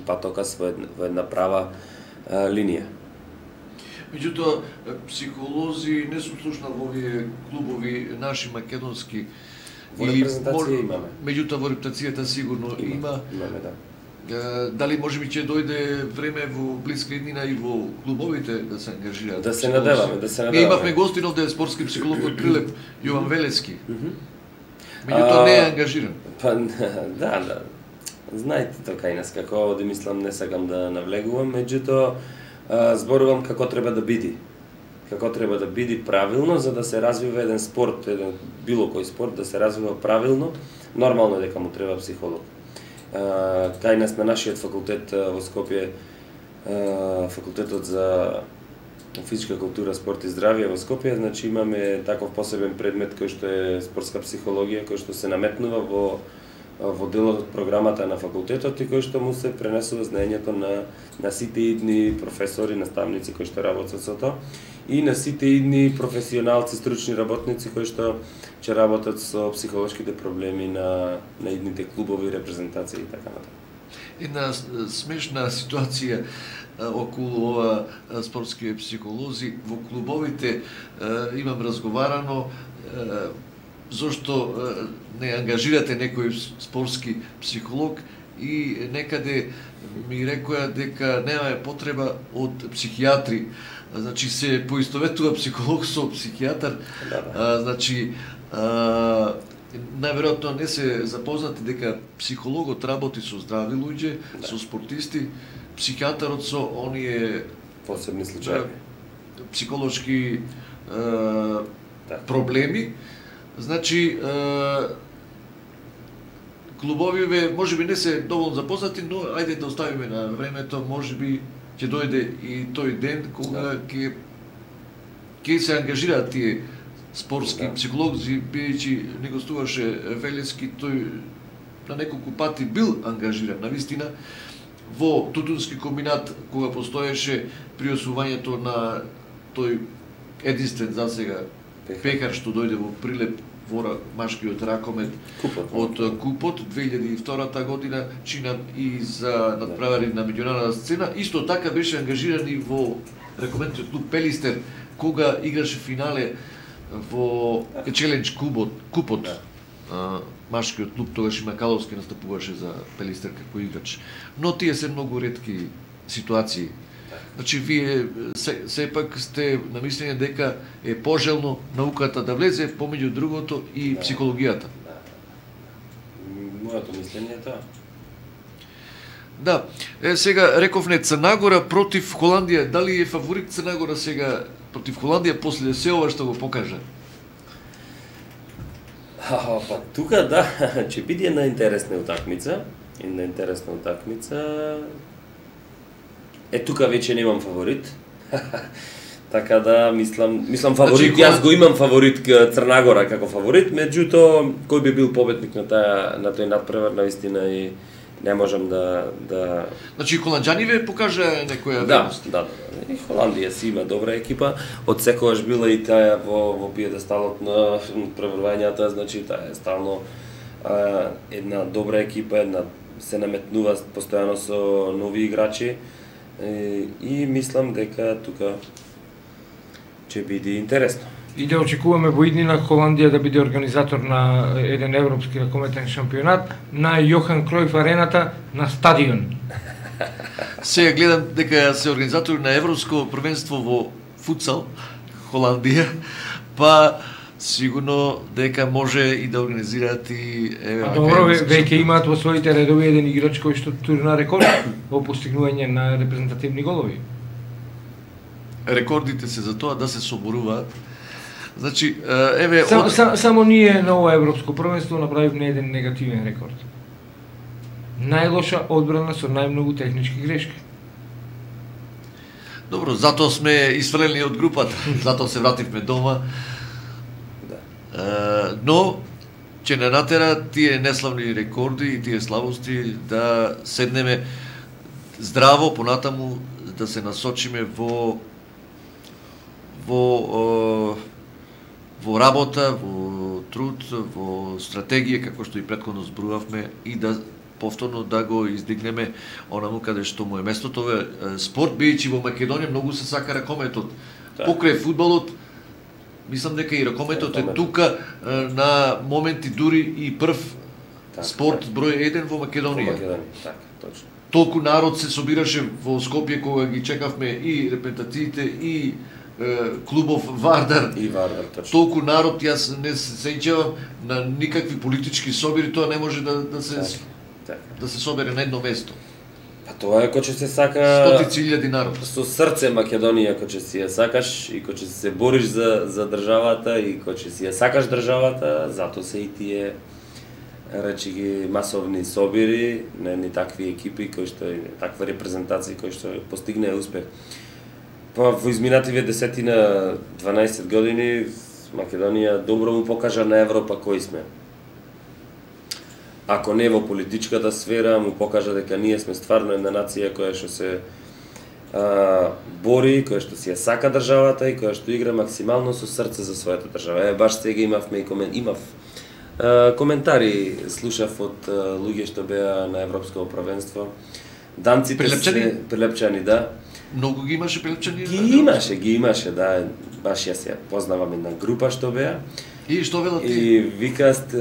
C: патокас, во една права линија.
B: Меѓутоа, психолози не сум слушнал во овие клубови наши македонски.
C: Во репрезентација имаме.
B: Меѓутоа во репрезентацијата сигурно има.
C: Имаме, да.
B: Дали можеби ќе дојде време во блиска иднина и во клубовите да се ангажираат?
C: Да се надеваме.
B: Ние имавме гостин овде спортски психолог од Прилеп, Јован Велески. Меѓутоа не е ангажиран.
C: Па да. Знаете тоа кај нас како оди, мислам, не сакам да навлегувам, меѓутоа зборувам како треба да биде. Како треба да биде правилно за да се развива еден спорт, било кој спорт да се развива правилно, нормално дека му треба психолог. Кај нас на нашиот факултет во Скопје, факултетот за физичка култура, спорт и здравје во Скопје, значи имаме таков посебен предмет кој што е спортска психологија, кој што се наметнува во делот од програмата на факултетот и кој што му се пренесува знаењето на сите идни професори, наставници кои што работат со тоа и на сите идни професионалци, стручни работници кои што ќе работат со психолошките проблеми на идните клубови, репрезентации и така натаму.
B: Една смешна ситуација околу ова спортски психолози во клубовите имам разговарано зошто не ангажирате некој спортски психолог и некаде ми рекоа дека немаме потреба од психијатри. Значи се поистоветува психолог со психијатар. Значи најверојатно не се запознати дека психологот работи со здрави луѓе, со спортисти, психијатарот со оние
C: посебни случаи,
B: психолошки проблеми. Значи клубовиве можеби не се доволно запознати, но ајде да оставиме на времето, можеби ќе дојде и тој ден кога ќе се ангажираат тие спортски психолози, бидејќи не гостуваше Велески, тој на неколку пати бил ангажиран, навистина, во тутунски комбинат, кога постоеше при освојувањето на тој единствен засега пекар што дојде во Прилеп, вора машкиот ракомет од Купот 2002 година, чинам и за надправари на меѓународна сцена. Исто така беше ангажиран и во ракометниот клуб Пелистер, кога играше финале во Челендж Купот. Машкиот клуб, тогаш и Макаловски настапуваше за Пелистер како играч. Но тие се многу ретки ситуации. Значи, вие сепак сте на мислење дека е пожелно науката да влезе, помеѓу другото и психологијата.
C: Моето мислење е тоа.
B: Да, сега рековне Црнагора против Холандија. Дали е фаворит Црнагора сега против Холандија после се ова што го покажа?
C: Па тука да, ќе биде една интересна утакмица. Една интересна утакмица. Тука веќе немам фаворит. Така да мислам фаворит, јас го имам фаворит Црнагора како фаворит, меѓутоа кој би бил победник на тој надпревар навистина и не можам да...
B: Значи, холанџани покажа некоја
C: верност. Да. И Холандија си има добра екипа. Од секогаш била и таа во пиедесталот на преврвањата, значи таа е стално една добра екипа, се наметнува постојано со нови играчи и мислам дека тука ќе биде интересно.
D: И да очекуваме во иднина Холандија да биде организатор на еден европски ракометен шампионат на Јохан Кројф арената на стадион.
B: Сега гледам дека се организатори на европско првенство во футсал Холандија, па сигурно дека може и да организираат и
D: добро, веќе имаат во своите редови еден играч кој што турна рекорд во постигнување на репрезентативни голови.
B: Рекордите се за тоа да се соборуваат. Значи,
D: само ние на ова европско првенство направивме еден негативен рекорд. Најлоша одбрана со најмногу технички грешки.
B: Добро, затоа сме исфрлени од групата, затоа се вративме дома. Но ќе не натера тие неславни рекорди и тие слабости да седнеме здраво понатаму, да се насочиме во работа, во труд, во стратегија, како што и претходно зборувавме, и да повторно да го издигнеме онаму каде што му е местото. Спорт, бијќи во Македонија многу се сака ракометот. Покрај фудбалот, мислам дека и ракометот е тука на моменти дури и прв спорт број 1 во Македонија.
C: Точно.
B: Толку народ се собираше во Скопје кога ги чекавме и репрезентациите и клубов Вардар.
C: И Вардар, точно.
B: Толку народ, јас не се сеќавам на никакви политички собири, тоа не може да се собере на едно место.
C: Па тоа е кој ќе се сака
B: стотици илјади народ.
C: Со срце Македонија кој ќе си ја сакаш и кој ќе се бориш за државата и кој ќе си ја сакаш државата, затоа се и тие речи ги масовни собири на едни такви екипи кои што таква репрезентација кои што постигнаа успех. Па во изминативе 10-12 години Македонија добро му покажа на Европа кои сме. Ако не во политичката сфера, му покажа дека ние сме стварно една нација која што се бори, која што си ја сака државата и која што игра максимално со срце за својата држава. Баш сега имав коментари, слушав од луѓе што беа на европско првенство. Данците прилепчани, да.
B: Многу ги имаше прилепчани?
C: Ги имаше, да. Баш јас ја познавам една група што беа.
B: И што велат ти?
C: И викаат,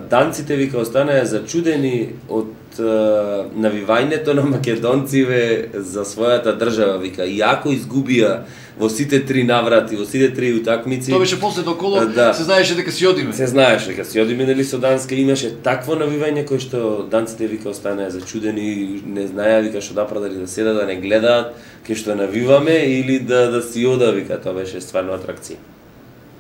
C: данците останаа зачудени од навивањето на македонциве за својата држава, вика, иако изгубија во сите три наврати, во сите три утакмици.
B: Тоа беше после коло, се знаеше дека си одиме.
C: Се знаеше дека си одиме, нели, со Данска, имаше такво навивање кој што данците останаа зачудени, не знаеа вика што да дали да седат, да не гледаат кај што навиваме или да си ода, вика, тоа беше стварно атракција.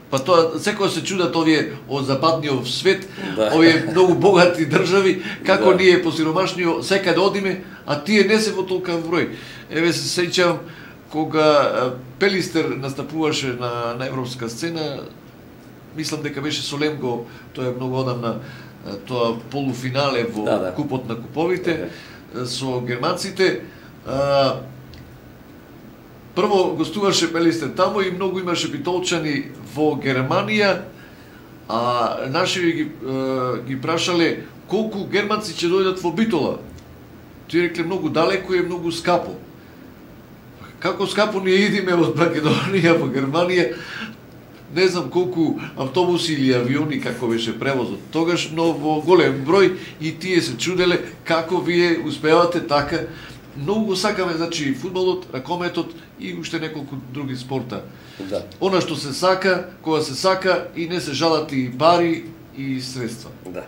B: Па тоа, секој се чудат овие од западниот свет, овие многу богати држави, како ние посиромашниот секаде одиме, а тие не се во толкав број. Еве се сеќавам кога Пелистер настапуваше на европска сцена, мислам дека беше со Лемго, тоа е многу одамна, тоа полуфинале во Купот на куповите со германците. Прво гостуваше Пелистер тамо и многу имаше битолчани во Германија, а наши ги прашале колку германци ќе дојдат во Битола. Тие рекле многу далеко и многу скапо. Како скапо ние идиме од Македонија во Германија, не знам колку автобуси или авиони како беше превозот тогаш, но во голем број и тие се чуделе како вие успевате така многу го сакаме, значи фудбалот, ракометот и уште неколку други спорта.
C: Да.
B: Она што се сака, кога се сака и не се жалат и пари и средства.
C: Да.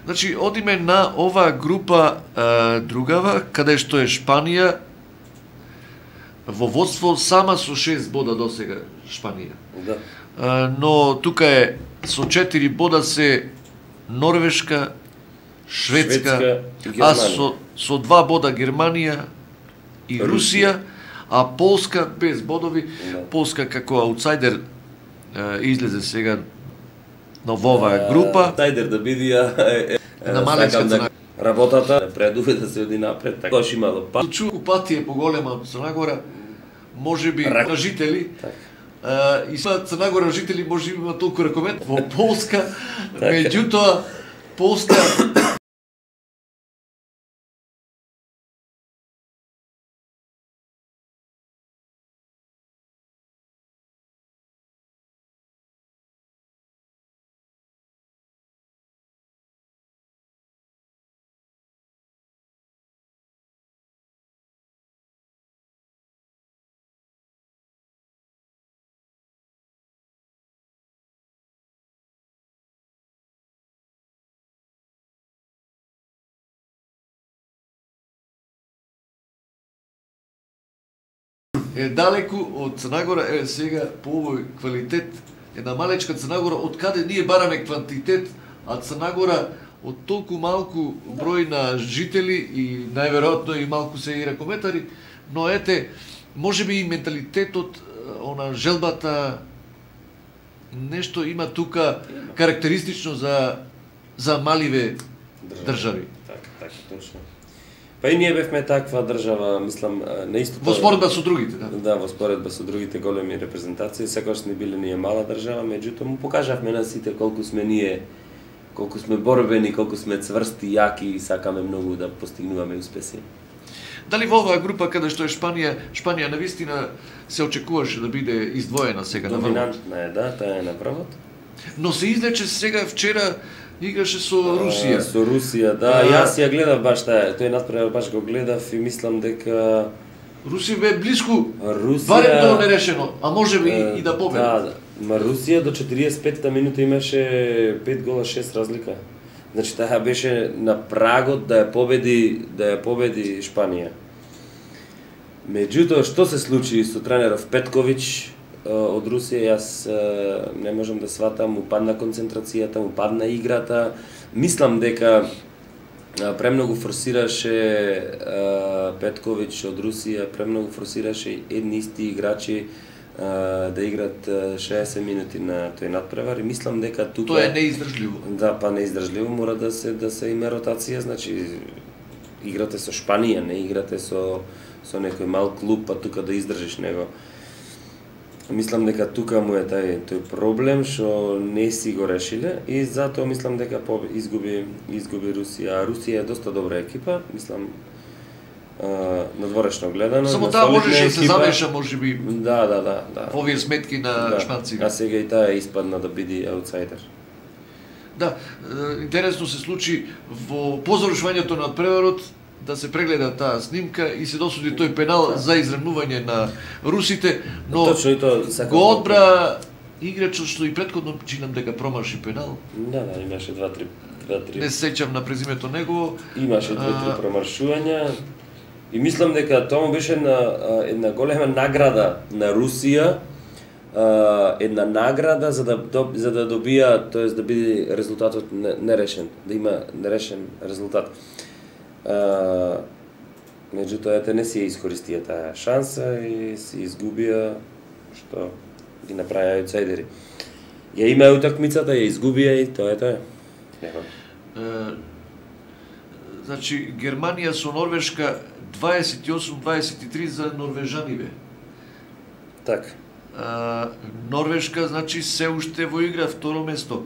B: Значи, одиме на оваа група другава, каде што е Шпанија во водство сама со 6 бода досега Шпанија.
C: Да.
B: Но тука е со 4 бода се Норвешка, Шведска,
C: и
B: а
C: Германија.
B: со 2 бода Германија и Русија, а Полска без бодови.
C: Да.
B: Полска како аутсайдер излезе сега на оваа група.
C: Тајдер да биди
B: На малечка цена.
C: Работата предуве да се оди напред, така кош имало па.
B: Чуку пати е поголема од Црна Гора, можеби на жители. И са Црна Гора жители може би има толку ракомет во Полска, меѓутоа Полска е далеку од Црна Гора, сега по овој квалитет една малечка Црна Гора, од каде ние бараме квантитет, а Црна Гора од толку малку број на жители и најверојатно и малку се и ракометари, но ете, можеби и менталитетот, она желбата, нешто има тука карактеристично за маливе држави.
C: Така, точно. Па и ние бевме таква држава, мислам, на истото...
B: Во споредба со другите, да.
C: Да, во споредба со другите големи репрезентации, секогаш сме биле ние мала држава, меѓутоа му покажавме на сите колку сме ние, колку сме борбени, колку сме цврсти, јаки и сакаме многу да постигнуваме успеси.
B: Дали во оваа група каде што е Шпанија навистина се очекуваше да биде издвоена сега на врвот?
C: Доминантна е, да, таа е на врвот.
B: Но се излече сега вчера играше со Русија.
C: Со Русија, да, јас ја гледав баш таа, тој надпревар баш го гледав и мислам дека
B: Русија бе блиску,
C: Русија
B: барем до нерешено, а можеби и да победи.
C: Да, ма Русија до 45-та минута имаше 5 гола 6 разлика. Значи таа беше на прагот да ја победи Шпанија. Меѓутоа што се случи со тренеров Петковиќ од Русија, јас не можам да сватам, му падна концентрацијата, му падна играта. Мислам дека премногу форсираше Петковиќ од Русија, премногу форсираше едни исти играчи да играат 60 минути на тој надпревар и мислам дека тука
B: Тоа е неиздржливо.
C: Да, па неиздржливо мора да се има ротација, значи играте со Шпанија, не играте со некој мал клуб, па тука да издржиш него. Мислам дека тука му е тој проблем што не си го решиле и затоа мислам дека изгуби Русија. А Русија е доста добра екипа, мислам надворешно гледано.
B: Само таа можеше да се замеша можеби.
C: Да.
B: Во овие сметки на шпанците.
C: А сега и таа испадна да биде аутсайдер.
B: Да, интересно се случи по завршувањето на преварот да се прегледа таа снимка и се досуди тој пенал за изравнување на русите, но
C: точно и тоа
B: го одбра играчот што и претходно чинам дека промаши пенал.
C: Да, имаше 2-3.
B: Не се сеќам на презимето негово.
C: Имаше 2-3 промаршувања. И мислам дека тоа беше една голема награда на Русија, една награда за да добија, тоест да биде резултатот нерешен, да има нерешен резултат. Меѓутоа ете не си ја искористија таа шанса и си изгубија што ги направија аутсайдери. Ја имаа утакмицата, ја изгубија и тоа е тоа.
B: Значи Германија со Норвешка 28-23 за норвежаниве.
C: Така.
B: Норвешка, значи, се уште во игра второ место.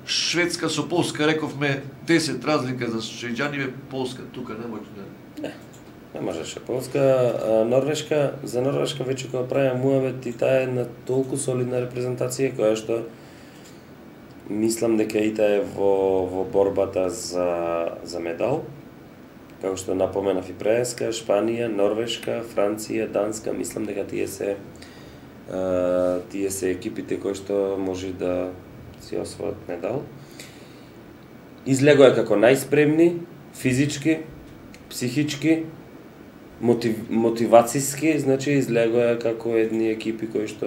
B: Шведска со Полска, рековме 10 разлика за швеđanиве, Полска тука не може да...
C: Не можеше Полска, Норвешка, за Норвешка веќе кога правиме муавет и таа е на толку солидна репрезентација која што мислам дека и таа е во борбата за медал. како што напоменав и преска, Шпанија, Норвешка, Франција, Данска, мислам дека тие се екипите кои што може да си освојат медал. Излегоа како најспремни, физички, психички, мотивацијски, значи излегоа како едни екипи кои што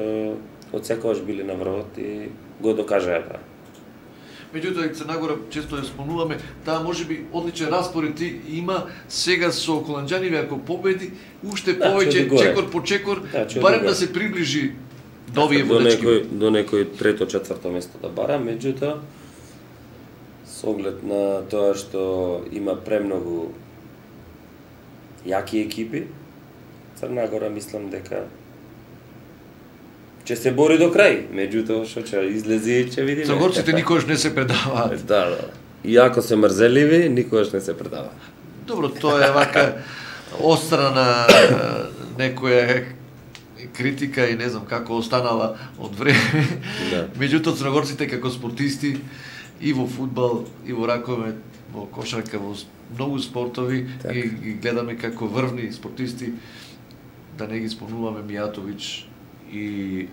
C: од секогаш биле на врвот и го докажаа тоа.
B: Меѓутоа, Црнагора често ја спомнуваме, таа можеби одличен распоред има сега со холанџаниве ако победи, уште повеќе чекор по чекор, барем да се приближи до овие водачки.
C: До некој трето, четврто место да бара, меѓутоа со оглед на тоа што има премногу јаки екипи, Црнагора мислам дека ќе се бори до крај, меѓутоа што ќе излези и ќе видиме.
B: Црногорците никогаш не се предаваат.
C: Да. Иако се мрзеливи, никогаш не се предаваат.
B: Добро, тоа е вака острана некоја критика и не знам како останала од време.
C: Да.
B: Меѓутоа црногорците како спортисти и во фудбал, и во раковет, во кошарка, во многу спортови и ги гледаме како врвни спортисти, да не ги спомнуваме Мијатовиќ и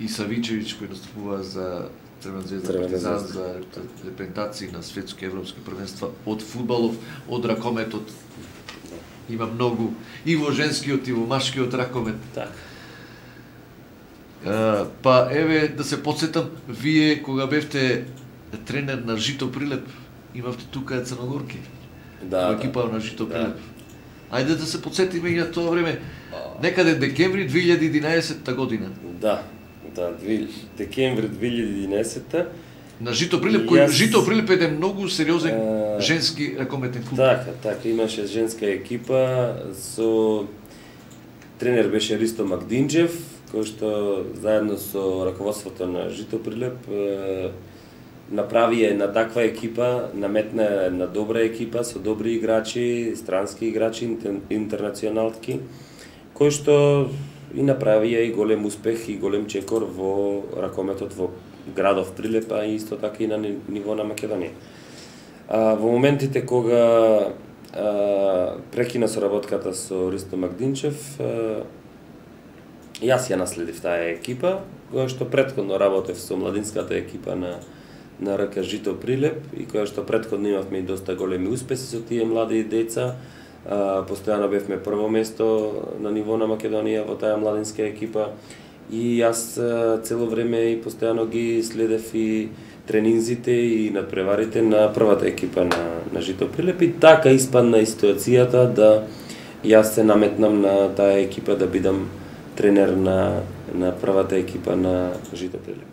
B: Савичевиќ кој настапува за Црвена звезда Партизан за репрезентации на светски европски првенства од фудбалов, од ракометот. Има многу и во женскиот и во машкиот ракомет.
C: Така.
B: Па еве да се потсетам, вие кога бевте тренер на Жито Прилеп, имавте тука црногорки.
C: Да.
B: Во екипа на Жито Прилеп. Ајде да се потсетиме и на тоа време. Некаде декември 2011 година.
C: Да, декември 2011
B: на Жито Прилеп, кој Жито Прилеп е многу сериозен женски ракометен клуб.
C: Така, имаше женска екипа со тренер беше Ристо Магдинџев, кој што заедно со раководството на Жито Прилеп направи една таква екипа, наметна една добра екипа со добри играчи, странски играчи, интернационалки, кои што и направија и голем успех и голем чекор во ракометот во градов Прилеп, а исто така и на ниво на Македонија. Во моментите кога прекина соработката со Ристо Магдинџев, јас ја наследив таа екипа, која што претходно работев со младинската екипа на РК Жито Прилеп и која што претходно имавме и доста големи успеси со тие млади деца. Постојано бевме прво место на ниво на Македонија во таа младинска екипа и јас цело време и постојано ги следев и тренинзите и надпреварите на првата екипа на Жито Прилеп и така испадна и ситуацијата да јас се наметнам на таа екипа да бидам тренер на првата екипа на Жито Прилеп.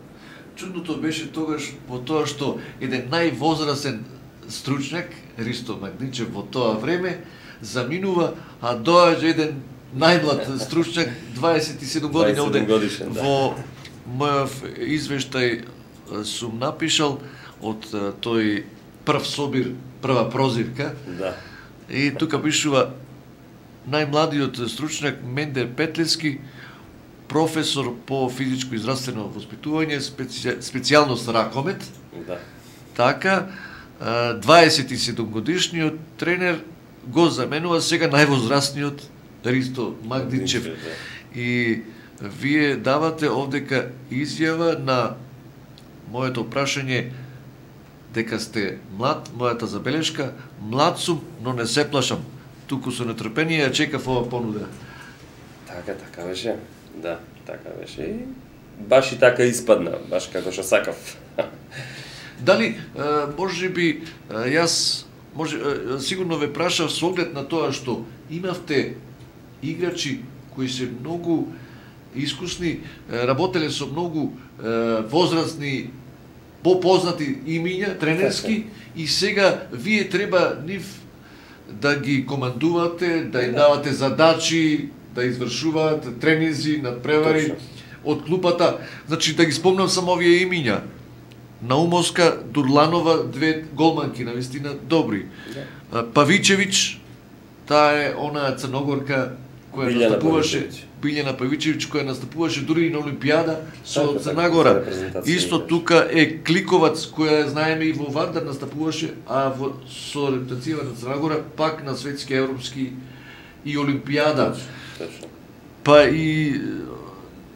B: Чудното беше тогаш во тоа што еден највозрасен стручњак, Ристо Магдинџев во тоа време, заминува, а доаѓа еден најмлад стручњак, 27 години овде. Во мојов извештај сум напишал од тој прв собир, прва прозивка.
C: Да.
B: И тука пишува најмладиот стручњак Мендер Петлевски, професор по физичко и здравствено воспитување, специјалност ракомет.
C: Да.
B: Така, 27 годишниот тренер го заменува сега највозрастниот Ристо Магдинџев. И вие давате овдека изјава на моето прашање дека сте млад, мојата забелешка, млад сум, но не се плашам. Туку со нетрпение ја чекав ова понуда.
C: Така беше. Да, така беше. И баш и така испадна, баш како што сакав.
B: Дали може би јас сигурно ве прашав со оглед на тоа што имавте играчи кои се многу искусни, работеле со многу возрастни, попознати имиња, тренерски, и сега вие треба нив да ги командувате, да им давате задачи, да извршуваат тренинзи, надпревари од клупата. Значи, да ги спомнам само овие имиња. Наумовска, Дурланова, две голманки, навистина добри. Павичевиќ, таа е онаа црногорка која настапуваше. Билјана Павичевиќ која настапуваше дури и на Олимпијада со
C: Така,
B: Црна Гора.
C: репрезентација
B: Исто
C: играш.
B: тука е Кликовац која знаеме и во Вардар настапуваше, а со репрезентацијава на Црна Гора пак на светски, европски и Олимпијада.
C: Точно.
B: Па и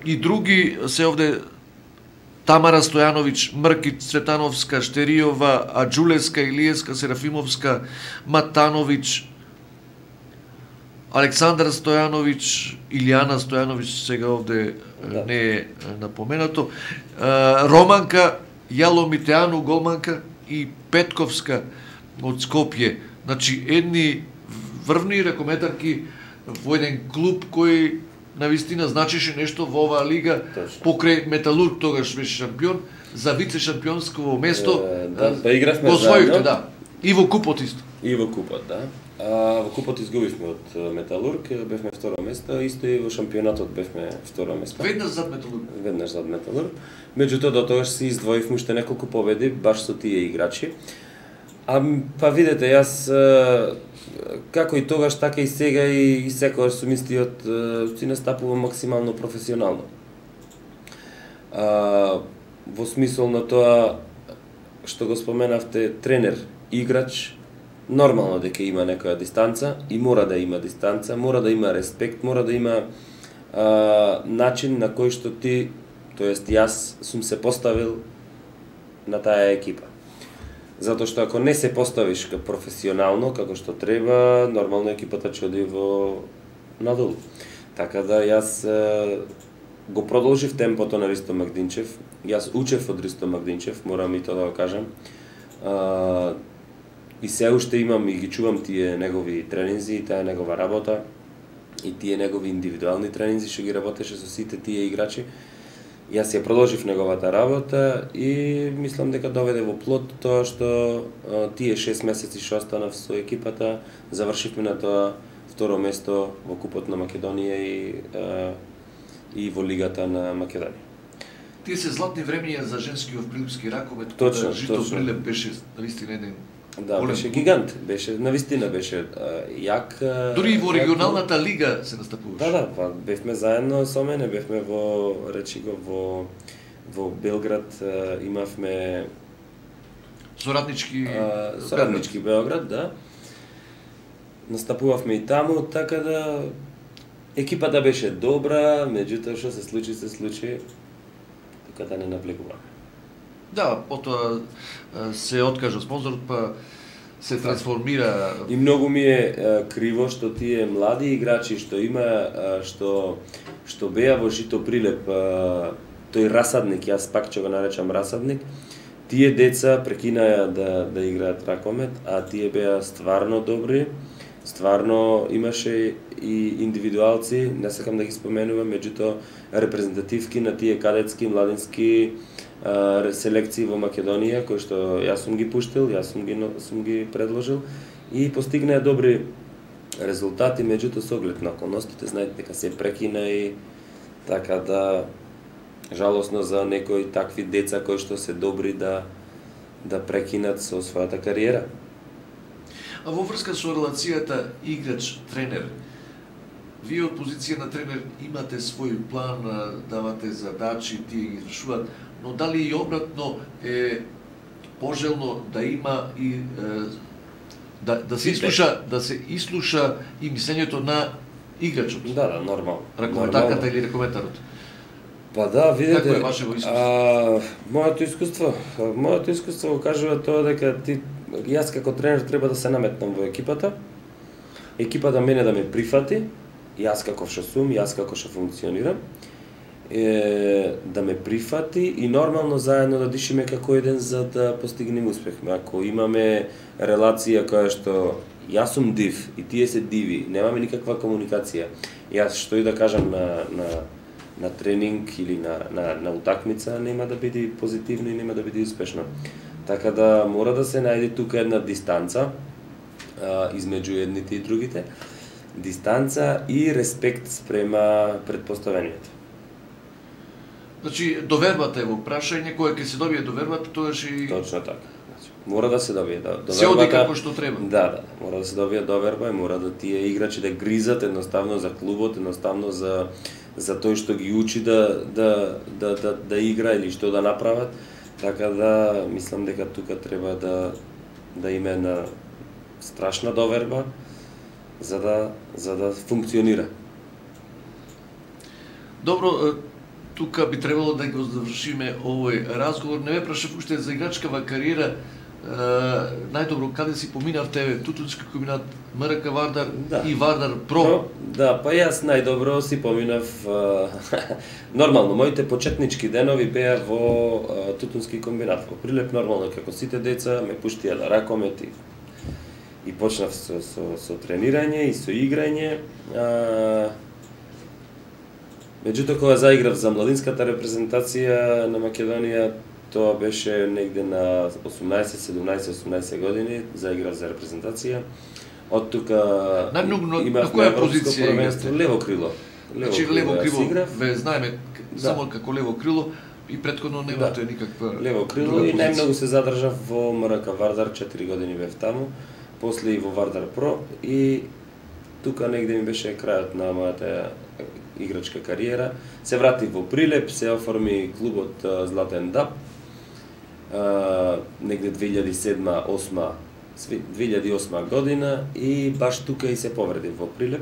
B: други се овде Тамара Стојановиќ, Мрки Цветановска, Штеријова, Аџулеска, Илиевска, Серафимовска, Матановиќ, Александар Стојановиќ, Илијана Стојановиќ, сега овде не е напоменато, Романка, Јало Митеану, голманка и Петковска од Скопје. Значи, едни врвни ракометарки во еден клуб кој навистина значеше нешто во оваа лига.
C: Точно.
B: Покрај Металург тогаш беше шампион, за вице-шампионско место
C: Па игравме
B: го освоивте,
C: заедно.
B: да. И во купот исто.
C: И во купот, да. Во купот изгубивме од Металург, бевме второ место, исто и во шампионатот бевме второ место.
B: Веднаш зад Металург.
C: Веднаш зад Металург. Меѓутоа до тогаш си издвоивме уште неколку победи баш со тие играчи. Па видете, јас како и тогаш, така и сега и секогаш сум истиот, си настапувам максимално професионално. Во смисол на тоа што го споменавте, тренер, играч, нормално дека има некоја дистанца и мора да има дистанца, мора да има респект, мора да има начин на кој што ти, тоест јас сум се поставил на таа екипа. Затоа што ако не се поставиш професионално, како што треба, нормално екипата ќе оди во надолу. Така да јас го продолжив темпото на Ристо Магдинчев. Јас учев од Ристо Магдинчев, морам и тоа да го кажам. И се уште имам и ги чувам тие негови тренинзи и таа негова работа и тие негови индивидуални тренинзи што ги работеше со сите тие играчи. Јас ја продолжив неговата работа и мислам дека доведе во плод тоа што тие 6 месеци што останав со екипата, завршивме на тоа второ место во Купот на Македонија и во Лигата на Македонија.
B: Тие се златни времења за женскиот прилипски ракомет,
C: Точно,
B: кога Жито
C: точно.
B: Прилеп беше навистина еден
C: Да,
B: голем
C: беше
B: клуб.
C: гигант, беше навистина беше јак.
B: Дури и во
C: јак
B: регионалната лига се настапуваше.
C: Да, па бевме заедно со мене, бевме во речи го во Белград, имавме
B: соратнички
C: Белград, да. Настапувавме и таму, така да екипата беше добра, меѓутоа што се случи, така да не навлегуваме.
B: Да, потоа се откажа спонзорот, па се трансформира.
C: И многу ми е криво што тие млади играчи што има што беа во Жито Прилеп, тој расадник, јас пак ќе го наречам расадник, тие деца прекинаја да играат ракомет, а тие беа стварно добри, стварно имаше и индивидуалци, не сакам да ги споменувам, меѓутоа репрезентативки на тие кадетски, младински селекции во Македонија, кои што јас сум ги пуштил, јас сум ги предложил и постигнаа добри резултати, меѓутоа со оглед на околностите, знаете дека се прекина и така да жалосно за некои такви деца кои што се добри да прекинат со својата кариера.
B: А во врска со релацијата играч-тренер, вие од позиција на тренер имате свој план, давате задачи, тие ги извршуваат, но дали и обратно е пожелно да има и да се ислуша и мислењето на играчот?
C: Да, нормално.
B: Ракометарката или ракометарот?
C: Па да, видете,
B: Какво е вашето искуство?
C: Моето искуство го кажува тоа дека јас како тренер треба да се наметнам во екипата, екипата мене да ме прифати, јас како што сум, јас како што функционирам, да ме прифати и нормално заедно да дишиме како еден за да постигнеме успех. Ако имаме релација која што јас сум див и тие се диви, немаме никаква комуникација, јас што и да кажам на тренинг или на утакмица нема да биде позитивно и нема да биде успешно. Така да мора да се најде тука една дистанца измеѓу едните и другите, дистанца и респект спрема претпоставенијата.
B: Значи, довербата е во прашање, кога ќе се добие довербата, тогаш и...
C: Точно така. Мора да се добие довербата.
B: Се оди како што треба.
C: Да, мора да се добие доверба и мора да тие играчи да гризат едноставно за клубот, едноставно за тој што ги учи да игра или што да направат. Така да мислам дека тука треба да има една страшна доверба за да функционира.
B: Добро, тука би требало да го завршиме овој разговор. Не ме прашав уште за играчкава кариера. Најдобро каде си поминавте? Тутунски комбинат, МРК Вардар и Вардар Про?
C: Да, па јас најдобро си поминав нормално, моите почетнички денови беа во Тутунски комбинат. Во Прилеп нормално како сите деца ме пуштија да ракомет и почнав со тренирање и со играње. Меѓутоа кога заиграв за младинската репрезентација на Македонија, тоа беше негде на 18 години, заиграв за репрезентација. Од тука
B: на која позиција игравте?
C: Лево крило.
B: Значи лево крило, ве знаеме само како лево крило и претходно немате никаква
C: лево крило и најмногу се задржав во МРК Вардар, 4 години бев таму, после и во Вардар Про и тука негде ми беше крајот на мојата играчка кариера. Се вратив во Прилеп, се оформи клубот Златен Даб. Негде 2007-2008 година и баш тука и се повредив во Прилеп.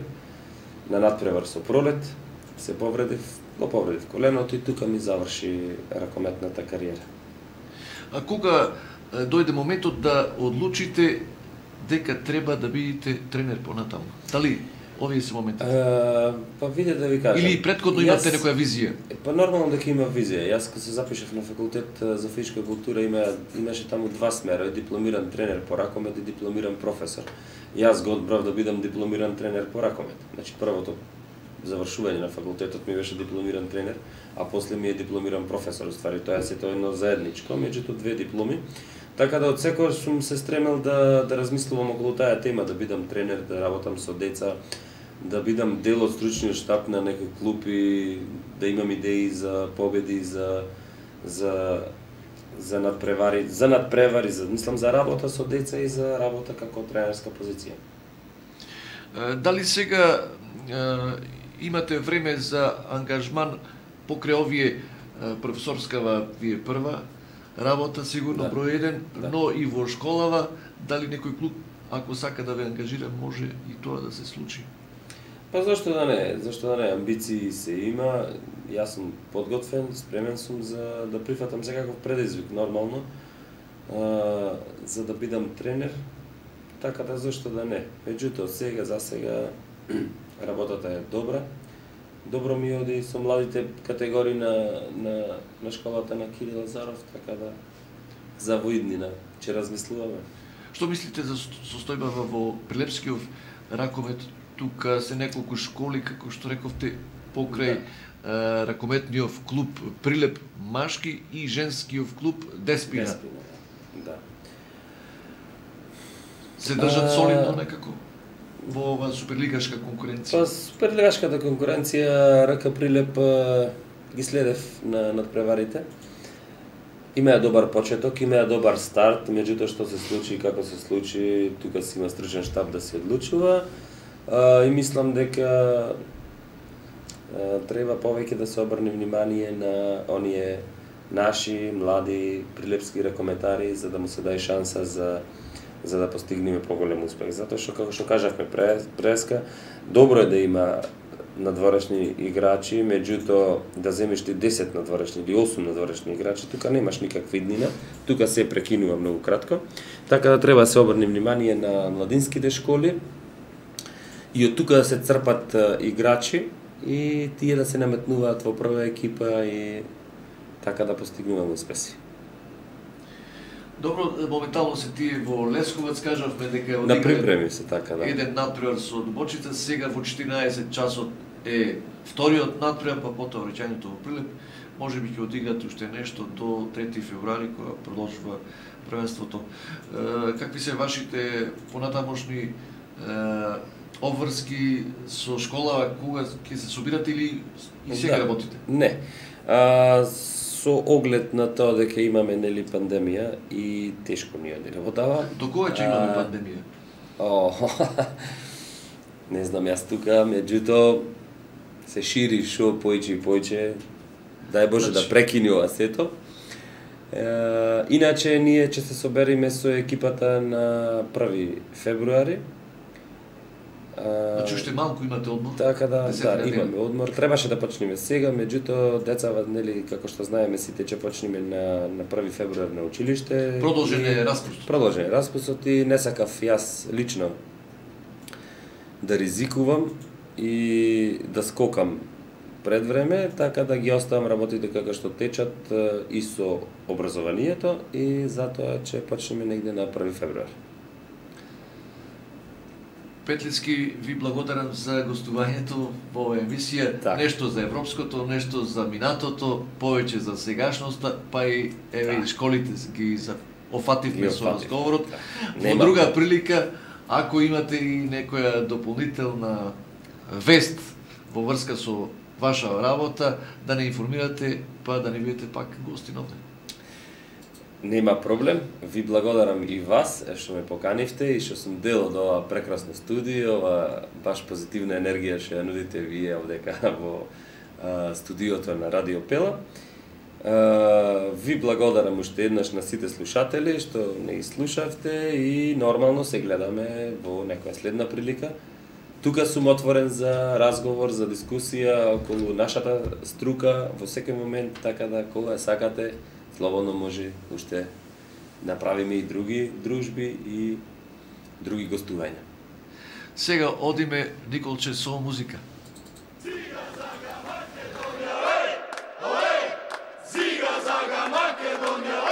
C: На надпревар со Пролет се повредив коленото и тука ми заврши ракометната кариера.
B: А кога дојде моментот да одлучите дека треба да бидете тренер понатаму? Дали овие се моменти?
C: Па виде да ви кажам.
B: Или претходно имате некоја визија?
C: Па нормално дека има визија. Јас кога се запишав на факултет за физичка култура имаше таму два смера, дипломиран тренер по ракомет и дипломиран професор. Јас го одбрав да бидам дипломиран тренер по ракомет. Значи првото завршување на факултетот ми беше дипломиран тренер, а после ми е дипломиран професор. Ствари тоа е едно заедничко, меѓутоа две дипломи. Така да од секој сум се стремел да размислувам околу таа тема, да бидам тренер, да работам со деца, да бидам дел од стручниот штаб на некој клуб и да имам идеи за победи, за надпревари, мислам за работа со деца и за работа како тренерска позиција.
B: Дали сега имате време за ангажман покрај овие професорскава вие прва работа, сигурно број 1, но и во школава, дали некој клуб, ако сака да ве ангажира, може и тоа да се случи?
C: Па зашто да не, амбиции се има, јас сум подготвен, спремен сум за да прифатам секаков предизвик, нормално, за да бидам тренер, така да зашто да не. Меѓутоа, за сега, работата е добра, добро ми оди со младите категории на школата на Кирил Лазаров, така да за воиднина ќе размислуваме.
B: Што мислите за состојбава во Прилепскиот ракомет? Тука се неколку школи, како што рековте, покрај ракометниот клуб Прилеп машки и женскиот клуб Деспина.
C: Да.
B: Се држат солидно некако во ова суперлигашка конкуренција?
C: Па суперлигашката конкуренција РК Прилеп ги следев на надпреварите. Имаа добар почеток, имаа добар старт, меѓутоа што се случи и како се случи, тука си има стручен штаб да се одлучува. И мислам дека треба повеќе да се обрне внимание на оние наши млади прилепски ракометари за да му се даде шанса за да постигнеме поголем успех. Затоа што како што кажавме преска, добро е да има надворешни играчи, меѓутоа да земеш ти 10 надворешни или 8 надворешни играчи, тука немаш никаква иднина, тука се прекинува многу кратко. Така да треба да се обрне внимание на младинските школи и од тука да се црпат играчи и тие да се наметнуваат во прва екипа и така да постигнуваме успеси.
B: Добро, моментално се тие во Лесковац, кажавме дека
C: на припреми се така, да.
B: Еден надпревар со Дубочица, сега во 14 часот е вториот надпревар, па потоа враќањето во Прилеп. Може би ќе одиграте уште нешто до 3 февруари, кога продолжува првенството. Какви се вашите понатамошни обврски со школа, кога ќе се собирате или и сега работите?
C: Не. со оглед на тоа дека имаме нели пандемија и тешко ни оди работава.
B: До кога ќе имаме пандемија?
C: Не знам јас тука, меѓутоа се шири шо поиќе и поиќе. Дај Боже да прекини ова сето. Иначе ние ќе се собериме со екипата на 1 февруари.
B: Значи уште малку имате одмор?
C: Така да, имаме одмор. Требаше да почнеме сега, меѓутоа децава, нели, како што знаеме сите, ќе почнеме на 1 февруар на училиште.
B: Продолжен е распустот.
C: Продолжен е распустот и не сакав јас лично да ризикувам и да скокам пред време, така да ги оставам работите како што течат и со образованието и затоа ќе почнеме негде на 1 февруар.
B: Петлицки, ви благодарам за гостувањето во оваа емисија.
C: Так.
B: Нешто за европското, нешто за минатото, повеќе за сегашноста, па и еве школите ги офативме со разговорот. Во друга прилика, ако имате и некоја дополнителна вест во врска со ваша работа, да не информирате, па да не бидете пак гостин овде.
C: Нема проблем, ви благодарам и вас што ме поканивте и што сум дел од ова прекрасно студио, ова баш позитивна енергија што ја нудите вие овдека во студиото на Радио Пела. Ви благодарам уште еднаш на сите слушатели што не слушавте и нормално се гледаме во некоја следна прилика. Тука сум отворен за разговор, за дискусија околу нашата струка во секој момент, така да кога сакате, слободно може уште направиме и други дружби и други гостувања.
B: Сега одиме, Николче, со музика.
A: Ziga zaga Makedonija, Ziga zaga Makedonija,